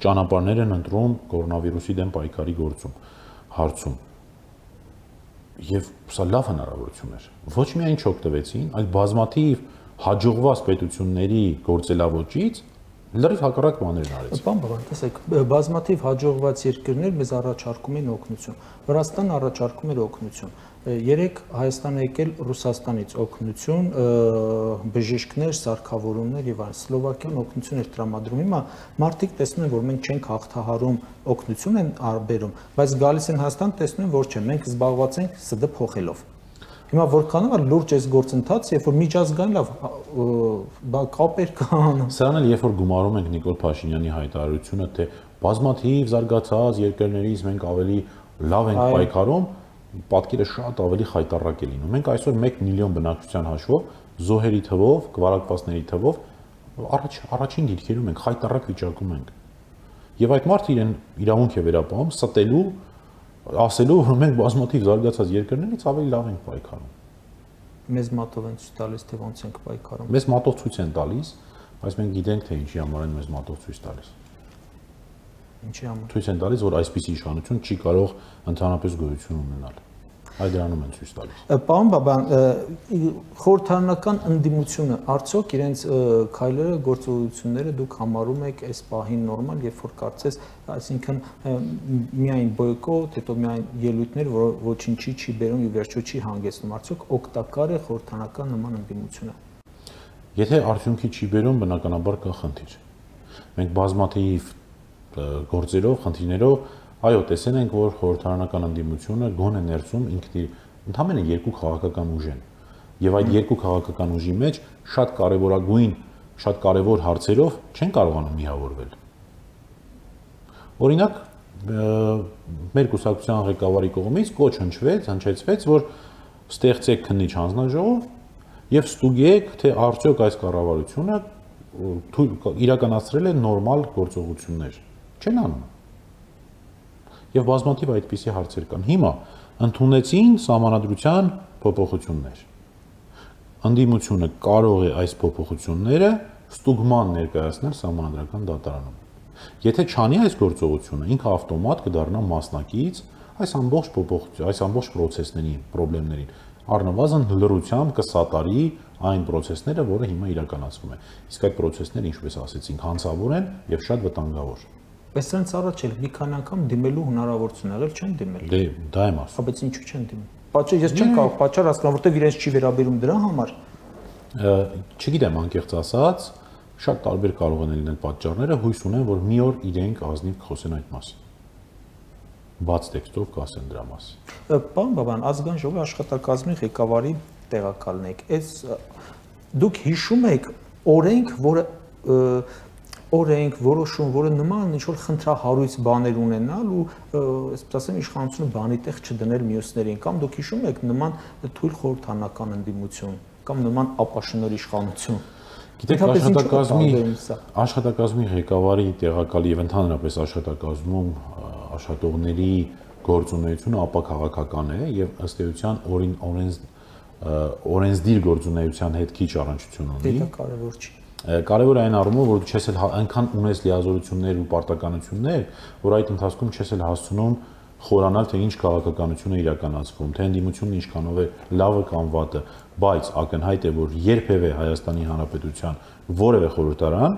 [SPEAKER 2] ճանապարհներ են ընտրում կորոնավիրուսի դեմ պայքարի գործում, հարցում։ Եվ սա լավ հնարավորություն էր։ Ոչ միայն չօգտվեցին, այլ բազմաթիվ հաջողված պետությունների գործելավոճից լրիվ հակառակ բաներ արեց։
[SPEAKER 1] Պարոն Բաբան, տեսեք, բազմաթիվ հաջողված երկրներ մեզ առաջարկում են օգնություն։ Վրաստանը առաջարկում էր օգնություն։ Երեք Հայաստան է եկել Ռուսաստանից օգնություն, բժիշկներ, սարքավորումներ եւ այլն։ Սլովակիան օգնություն էր տրամադրում։ Հիմա մարդիկ տեսնում են, որ մենք չենք հաղթահարում, օգնություն են արբերում, բայց գալիս են Հայաստան, տեսնում են, որ չէ, մենք զբաղված ենք ՍԴ փոխելով։ Հիմա որքանով է լուրջ այս գործընթացը, երբ որ միջազգային լավ կապեր կան։
[SPEAKER 2] Սրանն էլ երբ որ գումարում ենք Նիկոլ Փաշինյանի հայտարարությունը, թե բազմաթիվ զարգացած երկրներից մենք ավելի լավ ենք պայքարում, պատկերը շատ ավելի խայտառակ է լինում։ Մենք այսօր մեկ միլիոն բնակչության հաշվով, զոհերի թվով, կվարակվածների թվով առաջ առաջին դիրքերում ենք, խայտառակ վիճակում ենք։ Եվ այդ մարդը իրեն իրավունք է վերապահում ստելու ասելու, որ մենք բազմաթիվ զարգացած երկրներից ավելի լավ ենք պայքարում։
[SPEAKER 1] Մեզ մատով են ցույց տալիս, թե ոնց ենք պայքարում։
[SPEAKER 2] Մեզ մատով ցույց են տալիս, բայց մենք գիտենք, թե ինչի համար են մեզ մատով ցույց տալիս։
[SPEAKER 1] Ինչի համար։
[SPEAKER 2] Ցույց են տալիս, որ այսպիսի իշխանություն չի կարող ընդհանրապես գոյություն ունենալ։ Այդ դրանում են ցույց տալիս։
[SPEAKER 1] Պարոն Բաբան, խորհրդարանական ընդդիմությունը արդյոք իրենց քայլերը, գործողությունները դուք համարում եք այս պահին նորմալ, երբ որ կարծես, այսինքն միայն բոյկոտ, հետո միայն ելույթներ, որ ոչինչի չի բերում եւ վերջո չի հանգեցնում, արդյոք օգտակար է խորհրդարանական նման ընդդիմությունը։
[SPEAKER 2] Եթե արդյունքի չի բերում, բնականաբար կա խնդիր։ Մենք բազմաթիվ գործերով, խնդիրներով, այո, տեսել ենք, որ խորհրդարանական ընդդիմությունը գոնե ներսում ինքն ընդհանրապես երկու քաղաքական ուժ են։ Եվ այդ երկու քաղաքական ուժի մեջ շատ կարևորագույն շատ կարևոր հարցերով չեն կարողանում միավորվել։ Օրինակ, մեր կուսակցության ղեկավարի կողմից կոչ հնչվեց, հնչեցվեց, որ ստեղծեք քննիչ հանձնաժողով եւ ստուգեք, թե արդյոք այս կառավարությունը իրականացրել է նորմալ գործողություններ։ Չեն անում։ Եվ բազմաթիվ այդպիսի հարցեր կան։ Հիմա ընդունեցին սահմանադրության փոփոխություններ։ Ընդդիմությունը կարող է այս փոփոխությունները ստուգման ներկայացնել սահմանադրական դատարանում։ Եթե չանի այս գործողությունը, ինքը ավտոմատ կդառնա մասնակից այս ամբողջ փոփոխություն, այս ամբողջ process-ների, խնդիրներին, առնվազն լրությամբ կսատարի այն process-ները, որը հիմա իրականացվում է։ Իսկ այդ process-ները, ինչպես ասեցինք, հանցավոր են եւ շատ վտանգավոր։
[SPEAKER 1] Բայց սրանց առաջ էլ մի քանի անգամ դիմելու հնարավորություն եղել չեն դիմել։
[SPEAKER 2] Դե դա եմ ասում։
[SPEAKER 1] Բայց ինչու չեն դիմել։ Պատճառ ես չեմ կարող պատճառ հասկանալ, որտեղ իրենց չի վերաբերում դրա համար։
[SPEAKER 2] Չգիտեմ, անկեղծ ասած, շատ տարբեր կարող են լինել պատճառները, հույս ունեմ, որ մի օր իրենք ազնիվ կխոսեն այդ մասին։ Բաց տեքստով կասեն դրա մասին։
[SPEAKER 1] Պարոն Բաբան, ազգային ժողովի աշխատակազմի ղեկավարի տեղակալն եք։ Այս դուք հիշում եք օրենք, որը օրենք, որոշում, որը նման ինչ-որ խնդրահարույց բաներ ունենալ ու, այսպես ասեմ, իշխանությունը բանի տեղ չդնել մյուսներին, կամ դուք հիշում եք նման թույլ խորհրդանական ընդդիմություն, կամ նման ապաշնոր իշխանություն։
[SPEAKER 2] Գիտեք, աշխատակազմի աշխատակազմի ղեկավարի տեղակալի եւ ընդհանրապես աշխատակազմում աշխատողների գործունեությունը ապաքաղաքական է եւ ըստ էության օրին օրենս օրենսդիր գործունեության հետ քիչ առնչություն ունի։
[SPEAKER 1] Դա կարևոր չի։
[SPEAKER 2] Կարևոր է այն առումով, որ դու չես էլ այնքան ունես լիազորություններ ու պարտականություններ, որ այդ ընթացքում չես էլ հասցնում խորանալ, թե ինչ քաղաքականություն է իրականացվում, թե ընդդիմությունն ինչքանով է լավը կամ վատը, բայց ակնհայտ է, որ երբևէ Հայաստանի Հանրապետության որևէ խորհրդարան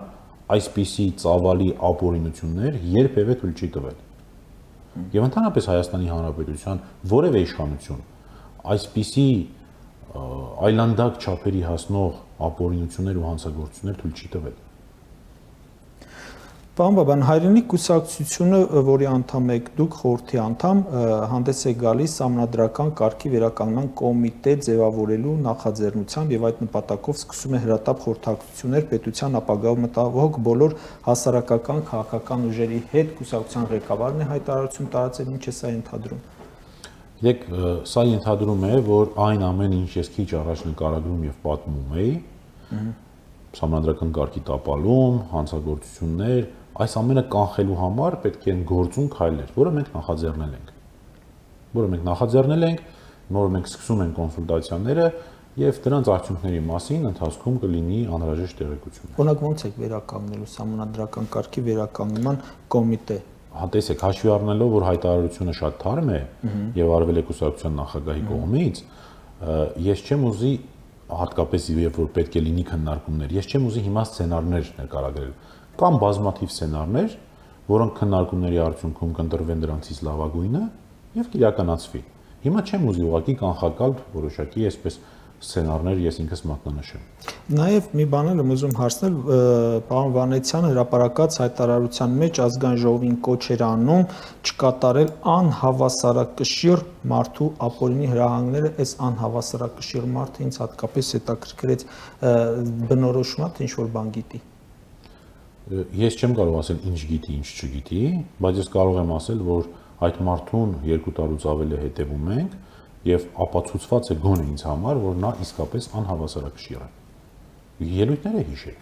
[SPEAKER 2] այսպիսի ծավալի ապօրինություններ երբևէ թույլ չի տվել։ Եվ ընդհանրապես Հայաստանի Հանրապետության որևէ իշխանություն այսպիսի այլանդակ չափերի հասնող ապօրինություններ ու հանցագործություններ թույլ չի տվել։
[SPEAKER 1] Պարոն Բաբան, Հայրենիք կուսակցությունը, որի անդամ եք դուք, խորհրդի անդամ, հանդես է գալիս սահմանադրական կարգի վերականգնման կոմիտե ձևավորելու նախաձեռնությամբ եւ այդ նպատակով սկսում է հրատապ խորհրդակցություններ պետության ապագայով մտահոգ բոլոր հասարակական քաղաքական ուժերի հետ։ Կուսակցության ղեկավարն է հայտարարություն տարածել, ինչ է սա ենթադրում։
[SPEAKER 2] Գիտեք, սա ենթադրում է, որ այն ամեն ինչ ես քիչ առաջ նկարագրում եւ պատմում էի, սահմանադրական կարգի տապալում, հանցագործություններ, այս ամենը կանխելու համար պետք են գործուն քայլեր, որը մենք նախաձեռնել ենք։ Որը մենք նախաձեռնել ենք, որը մենք սկսում ենք կոնսուլտացիաները եւ դրանց արդյունքների մասին ընթացքում կլինի անհրաժեշտ տեղեկություն։
[SPEAKER 1] Օրինակ ո՞նց եք վերականգնելու սահմանադրական կարգի վերականգնման կոմիտե։
[SPEAKER 2] Հա տեսեք, հաշվի առնելով, որ հայտարարությունը շատ թարմ է եւ արվել է կուսակցության նախագահի կողմից, ես չեմ ուզի հատկապես եւ որ պետք է լինի քննարկումներ։ Ես չեմ ուզի հիմա սցենարներ նկարագրել։ Կամ բազմաթիվ սցենարներ, որոնք քննարկումների արդյունքում կընտրվեն դրանցից լավագույնը եւ կիրականացվի։ Հիմա չեմ ուզի ուղղակի կանխակալ որոշակի այսպես սցենարներ ես ինքս մատնանշեմ։
[SPEAKER 1] Նաեւ մի բան եմ ուզում հարցնել, պարոն Վանեցյանը հրապարակած հայտարարության մեջ ազգային ժողովին կոչ էր անում չկատարել անհավասարակշիռ մարդու ապօրինի հրահանգները, այս անհավասարակշիռ մարդը ինձ հատկապես հետաքրքրեց, բնորոշումա թե ինչ որ բան գիտի։
[SPEAKER 2] Ես չեմ կարող ասել ինչ գիտի, ինչ չգիտի, բայց ես կարող եմ ասել, որ այդ մարդուն երկու տարուց ավել է հետևում ենք եւ ապացուցված է գոնե ինձ համար, որ նա իսկապես անհավասարակշիռ է։ Ելույթները հիշեք։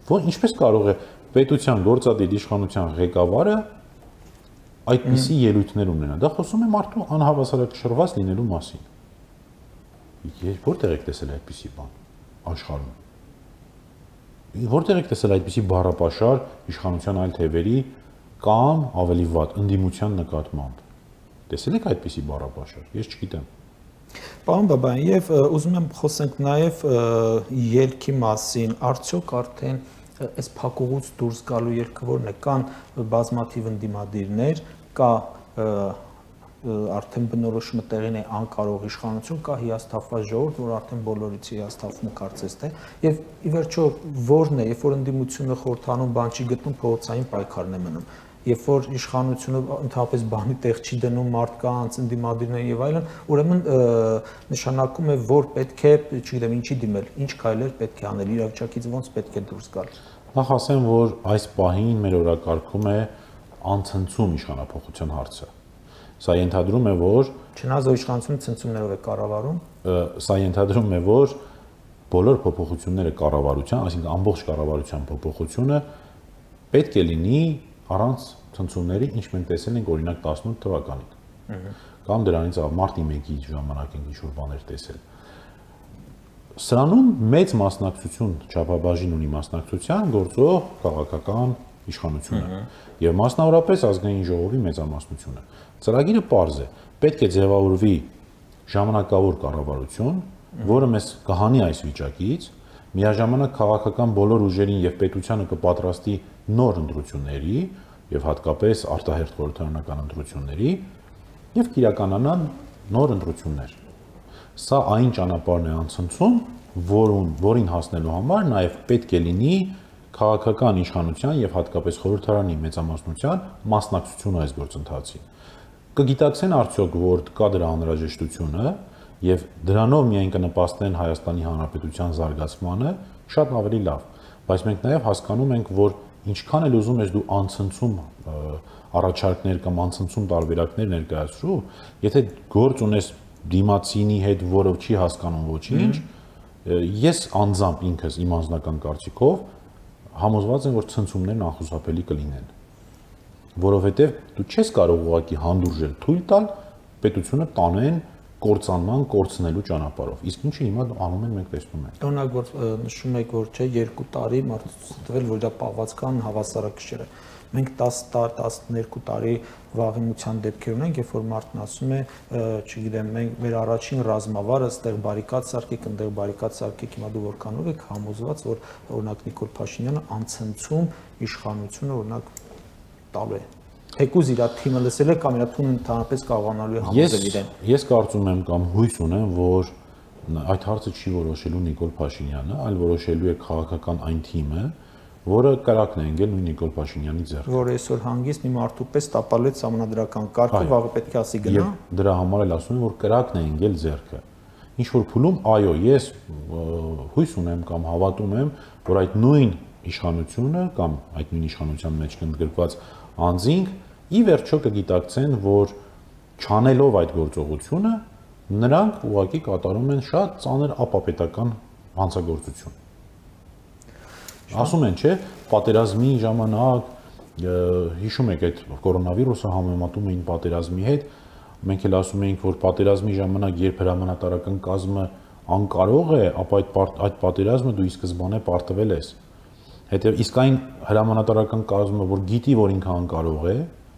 [SPEAKER 2] Որ ինչպես կարող է պետության գործադիր իշխանության ղեկավարը այդպիսի ելույթներ ունենալ։ Դա խոսում է մարդու անհավասարակշռված լինելու մասին։ Ես որտեղ եք տեսել այդպիսի բան աշխարհում։ Որտեղ եք տեսել այդպիսի բառապաշար իշխանության այլ թևերի կամ ավելի վատ ընդդիմության նկատմամբ։ Տեսել եք այդպիսի բառապաշար։ Ես չգիտեմ։
[SPEAKER 1] Պարոն Բաբան, եւ ուզում եմ խոսենք նաեւ ելքի մասին, արդյոք արդեն այս փակուղուց դուրս գալու ելքը որն է, կան բազմաթիվ ընդդիմադիրներ, կա արդեն բնորոշումը տեղին է անկարող իշխանություն, կա հիասթափված ժողովուրդ, որ արդեն բոլորից հիասթափվում կարծես թե, եւ ի վերջո որն է, երբ որ ընդդիմությունը խորհրդանում բան չի գտնում, փողոցային պայքարն է մնում։ երբ որ իշխանությունը ընդհանրապես բանի տեղ չի դնում մարդկանց, ընդդիմադիրներին եւ այլն, ուրեմն նշանակում է, որ պետք է, չգիտեմ, ինչի դիմել, ինչ քայլեր պետք է անել, իրավիճակից ոնց պետք է դուրս գալ։
[SPEAKER 2] Նախ ասեմ, որ այս պահին մեր օրակարգում է անցնցում իշխանապողության հարցը։ Սա ենթադրում է, որ
[SPEAKER 1] չնայած իշխանությունը ցնցումներով է կառավարում,
[SPEAKER 2] սա ենթադրում է, որ բոլոր փոփոխությունները կառավարության, այսինքն ամբողջ կառավարության փոփոխությունը պետք է լինի առանց ցնցումների, ինչ մենք տեսել ենք օրինակ տասնութ թվականին։ Կամ դրանից մարտի մեկի ժամանակ ենք ինչ-որ բաներ տեսել։ Սրանում մեծ մասնակցություն, չափաբաժին ունի մասնակցության գործող քաղաքական իշխանությունը եւ մասնավորապես ազգային ժողովի մեծամասնությունը։ Ծրագիրը պարզ է, պետք է ձևավորվի ժամանակավոր կառավարություն, որը մեզ կհանի այս վիճակից, միաժամանակ քաղաքական բոլոր ուժերին եւ պետությանը կպատրաստի նոր ընտրությունների եւ հատկապես արտահերթ խորհրդարանական ընտրությունների եւ կիրականանան նոր ընտրություններ։ Սա այն ճանապարհն է անցնցում, որուն որին հասնելու համար նաեւ պետք է լինի քաղաքական իշխանության եւ հատկապես խորհրդարանի մեծամասնության մասնակցությունը այս գործընթացին։ Կգիտակցեն արդյոք, որ կա դրա անհրաժեշտությունը եւ դրանով միայն կնպաստեն Հայաստանի Հանրապետության զարգացմանը, շատ ավելի լավ, բայց մենք նաեւ հասկանում ենք, որ ինչքան էլ ուզում ես դու անցնցում առաջարկներ կամ անցնցում տարբերակներ ներկայացրու, եթե գործ ունես դիմացինի հետ, որը չի հասկանում ոչինչ, ես անձամբ ինքս իմ անձնական կարծիքով համոզված եմ, որ ցնցումներն անխուսափելի կլինեն, որովհետեւ դու չես կարող ուղղակի հանդուրժել թույլ տալ պետությունը տանեն կործանման, կորցնելու ճանապարհով։ Իսկ ինչը հիմա անում են, մենք տեսնում ենք։
[SPEAKER 1] Օրինակ, որ նշում եք, որ չէ, երկու տարի մարդու տվել, որ դա պահվածքան հավասարակշիռ է։ Մենք տասներկու տարի վաղեմության դեպքեր ունենք, երբ որ մարդն ասում է, չգիտեմ, մենք մեր առաջին ռազմավարը ստեղ բարիկադ սարքեք, ընդեղ բարիկադ սարքեք, հիմա դու որքանով եք համոզված, որ օրինակ Նիկոլ Փաշինյանը անցնցում իշխանությունը օրինակ տալու է։ Թեկուզ իր թիմը լսել է կամ իր թիմը ընդհանրապես կարողանալու է համոզել իրեն։
[SPEAKER 2] Ես կարծում եմ կամ հույս ունեմ, որ այդ հարցը չի որոշելու Նիկոլ Փաշինյանը, այլ որոշելու է քաղաքական այն թիմը, որը կրակն է ընկել նույն Նիկոլ Փաշինյանի ձեռքը։
[SPEAKER 1] Որ այսօր հանգիստ մի մարդու պես տապալեց համանդրական կարգը, վաղը պետք է ասի գնա։
[SPEAKER 2] Եվ դրա համար էլ ասում եմ, որ կրակն է ընկել ձեռքը։ Ինչ որ փուլում, այո, ես հույս ունեմ կամ հավատում եմ, որ այդ նույն իշխանությունը կամ այդ նույն իշխանության մեջ ընդգրկված անձինք ի վերջո կգիտակցեն, որ չանելով այդ գործողությունը նրանք ուղղակի կատարում են շատ ծանր ապապետական հանցագործություն։ Ասում են, չէ, պատերազմի ժամանակ հիշում եք այդ կորոնավիրուսը համեմատում էին պատերազմի հետ, մենք էլ ասում էինք, որ պատերազմի ժամանակ երբ հրամանատարական կազմը անկարող է, ապա այդ այդ պատերազմը դու ի սկզբանե պարտվել ես։ Հետև իսկ այն հրամանատարական կազմը, որ գիտի, որ ինքը անկարող է,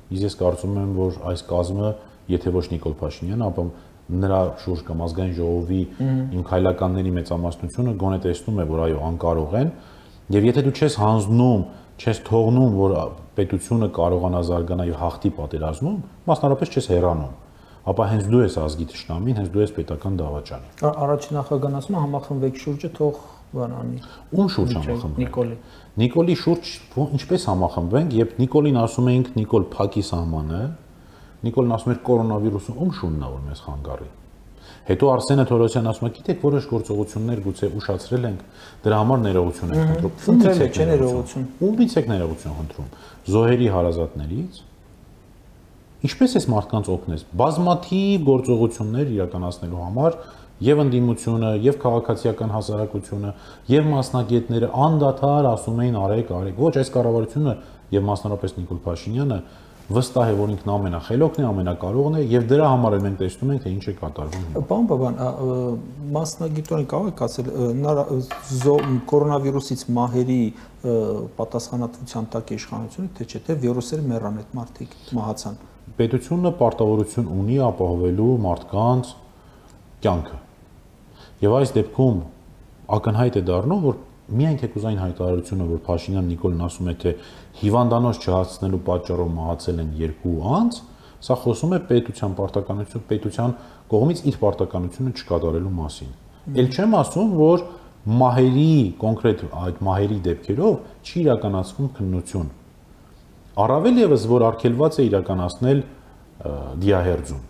[SPEAKER 2] իսկ ես կարծում եմ, որ այս կազմը, եթե ոչ Նիկոլ Փաշինյանը, ապա նրա շուրջ կամ ազգային ժողովի իմ քայլականների մեծամասնությունը գոնե տեսնում է, որ այո, անկարող են, եւ եթե դու չես հանձնում, չես թողնում, որ պետությունը կարողանա զարգանալ եւ հաղթի պատերազմում, մասնավորապես չես հեռանում, ապա հենց դու ես ազգի ճշտամին, հենց դու ես պետական դավաճանը։
[SPEAKER 1] Առաջին նախագահն ասում է համախմբեք շուրջը, թող բանանի։
[SPEAKER 2] Ում շուրջ համախմբենք։
[SPEAKER 1] Նիկոլի։
[SPEAKER 2] Նիկոլի շուրջ ինչպես համախմբենք, երբ Նիկոլին ասում էինք Նիկոլ փակի սահմանը, Նիկոլն ասում էր կորոնավիրուսը ում շունն է որ մեզ խանգարի։ Հետո Արսենը Թորոսյանն ասում է, գիտեք, որոշ գործողություններ գուցե ուշացրել ենք, դրա համար ներողություն ենք խնդրում։
[SPEAKER 1] Ումից է ներողություն։
[SPEAKER 2] Ումից եք ներողություն խնդրում։ Զոհերի հարազատներից։ Ինչպես էս մարդկանց օգնես։ Բազմաթիվ գործողություններ իրականացնելու համար եւ ընդդիմությունը, եւ քաղաքացիական հասարակությունը, եւ մասնագետները անդադար ասում էին արեք, արեք։ Ոչ, այս կառավարությունը եւ մասնավորապես Նիկոլ Փաշինյանը վստահ է, որ ինքն ամենախելոքն է, ամենակարողն է եւ դրա համար էլ մենք տեսնում ենք, թե ինչ է կատարվում։
[SPEAKER 1] Պարոն Բաբան, մասնագիտորեն կարող եք ասել կորոնավիրուսից մահերի պատասխանատվության տակ է իշխանությունը, թե չէ, թե վիրուսերը մեռան այդ մարդիկ մահացան։
[SPEAKER 2] Պետությունը պարտավորություն ունի ապահովելու մարդկանց կյանքը։ Եվ այս դեպքում ակնհայտ է դառնում, որ միայն թեկուզ այն հայտարարությունը, որ Փաշինյան Նիկոլն ասում է, թե հիվանդանոց չհասցնելու պատճառով մահացել են երկու անձ, սա խոսում է պետության պարտականություն, պետության կողմից իր պարտականությունը չկատարելու մասին։ Էլ չեմ ասում, որ մահերի կոնկրետ այդ մահերի դեպքերով չի իրականացվում քննություն։ Առավել ևս որ արգելված է իրականացնել դիահերձում։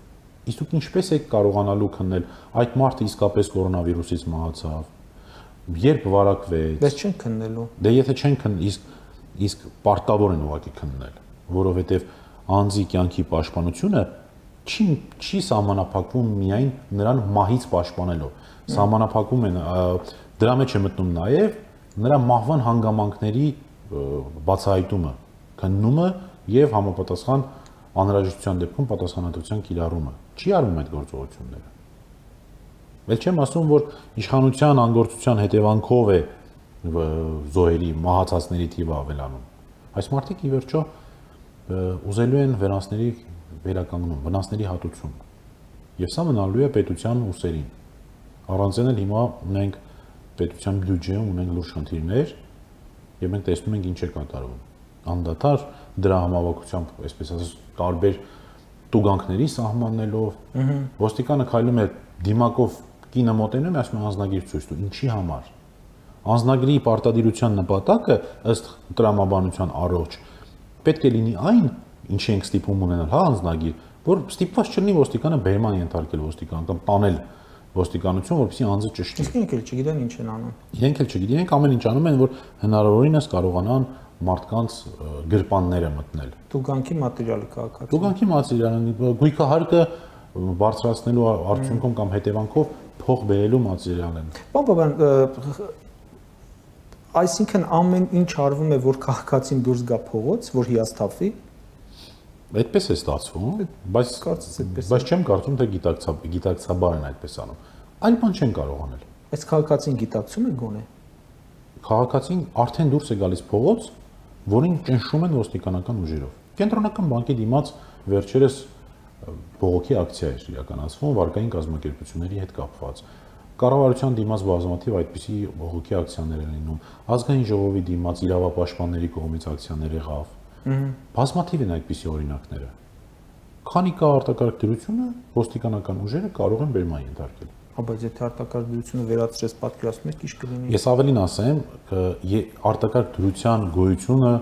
[SPEAKER 2] Իսկ դուք ինչպես եք կարողանալու քննել այդ մարդը իսկապես կորոնավիրուսից մահացավ, երբ վարակվեց։
[SPEAKER 1] Բայց չեն քննելու։
[SPEAKER 2] Դե եթե չեն քննել, իսկ իսկ պարտավոր են ուղղակի քննել, որովհետև անձի կյանքի պաշտպանությունը չի չի սահմանափակվում միայն նրան մահից պաշտպանելով։ Սահմանափակվում են դրա մեջ է մտնում նաև նրա մահվան հանգամանքների բացահայտումը, քննումը եւ համապատասխան անհրաժեշտության դեպքում պատասխանատվության կիրառումը։ Չի արվում այդ գործողությունները։ Ել չեմ ասում, որ իշխանության անգործության հետևանքով է զոհերի մահացածների թիվը ավելանում։ Այս մարդիկ ի վերջո ուզելու են վնասների վերականգնում, վնասների հատուցում։ Եվ սա մնալու է պետության ուսերին։ Առանց այն էլ հիմա ունենք պետության բյուջեում ունենք լուրջ խնդիրներ, եւ մենք տեսնում ենք ինչ է կատարվում։ Անդադար դրա համավակությամբ, այսպես ասած, տարբեր տուգանքների սահմանելով, ոստիկանը քայլում է դիմակով կինը մոտենում է, ասում է անձնագիր ցույց տու, ինչի համար։ Անձնագրի պարտադիրության նպատակը ըստ տրամաբանության առողջ պետք է լինի այն, ինչի ենք ստիպում ունենալ, հա, անձնագիր, որ ստիպված չլինի ոստիկանը բերման ենթարկել ոստիկան կամ տանել ոստիկանություն, որպեսզի անձը ճշտի։
[SPEAKER 1] Իսկ իրենք էլ չգիտեն ինչ են անում։
[SPEAKER 2] Իրենք էլ չգիտեն, իրենք ամեն ինչ անում են, որ հնարավորինս կարողանան մարդկանց գրպանները մտնել։
[SPEAKER 1] Տուգանքի մատերիալը քաղաքացի։
[SPEAKER 2] Տուգանքի մատերիալը, գույքահարկը բարձրացնելու արդյունքում կամ հետևանքով փող բերելու մատերիալ են։
[SPEAKER 1] Պարոն Բաբյան, այսինքն ամեն ինչ արվում է, որ քաղաքացին դուրս գա փողոց, որ հիասթափվի։
[SPEAKER 2] Այդպես է ստացվում, բայց բայց չեմ կարծում, թե գիտակցաբար են այդպես անում։ Այլ բան չեն կարող անել։
[SPEAKER 1] Այս քաղաքացին գիտակցում է գոնե։
[SPEAKER 2] Քաղաքացին արդեն դուրս է գալիս փողոց, որին ճնշում են ոստիկանական ուժերով։ Կենտրոնական բանկի դիմաց վերջերս բողոքի ակցիա էր իրականացվում վարկային կազմակերպությունների հետ կապված։ Կառավարության դիմաց բազմաթիվ այդպիսի բողոքի ակցիաներ են լինում։ Ազգային ժողովի դիմաց իրավապաշտպանների կողմից ակցիաներ եղավ։ Բազմաթիվ են այդպիսի օրինակները։ Քանի կա արտակարգ դրությունը, ոստիկանական ուժերը կարող են բերման ենթարկել։
[SPEAKER 1] Բայց եթե արտակարգ դրությունը վերացրես, պատկերացնում եք, ինչ կլինի։
[SPEAKER 2] Ես ավելին ասեմ, արտակարգ դրության գոյությունը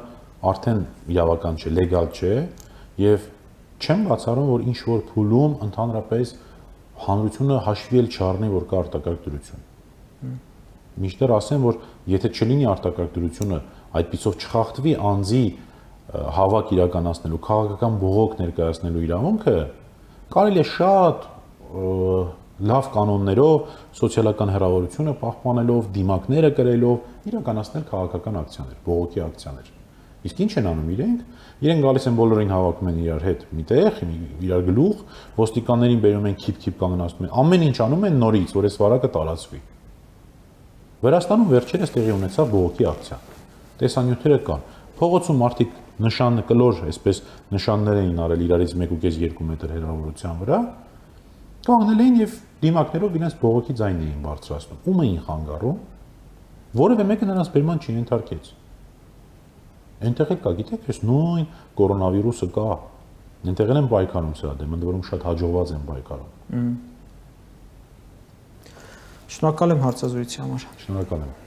[SPEAKER 2] արդեն իրավական չէ, լեգալ չէ, եւ չեմ բացառում, որ ինչ որ փուլում ընդհանրապես հանրությունը հաշվի էլ չառնի, որ կա արտակարգ դրություն։ Միշտեր ասեմ, որ եթե չլինի արտակարգ դրությունը, այդպիսով չխախտվի անձի հավաք իրականացնելու, քաղաքական բողոք ներկայացնելու իրավունքը, կարելի է շատ լավ կանոններով, սոցիալական հեռավորությունը պահպանելով, դիմակները կրելով իրականացնել քաղաքական ակցիաներ, բողոքի ակցիաներ։ Իսկ ինչ են անում իրենք։ Իրենք գալիս են բոլորին հավաքում են իրար հետ միտեղ, իրար գլուխ, ոստիկաններին բերում են քիփ-քիփ կանգնացնում են, ամեն ինչ անում են նորից, որ այս վարակը տարածվի։ Վրաստանում վերջերս տեղի ունեցավ բողոքի ակցիա։ Տեսանյութերը կան։ Փողոցում մարդիկ նշան կլոր, այսպես նշաններ էին արել իրարից մեկ ու կես երկու մետր հեռավորության վրա, կանգնել էին եւ դիմակներով իրենց բողոքի ձայն էին բարձրացնում։ Ում էին խանգարում, որևէ մեկը նրանց բերման չենթարկեց։ Այնտեղ կա, գիտեք, այս նույն կորոնավիրուսը կա։ Այնտեղ են պայքարում սրա դեմ, ընդ որում շատ հաջողված են պայքարում։
[SPEAKER 1] Շնորհակալ եմ հարցազրույցի համար։
[SPEAKER 2] Շնորհակալ եմ։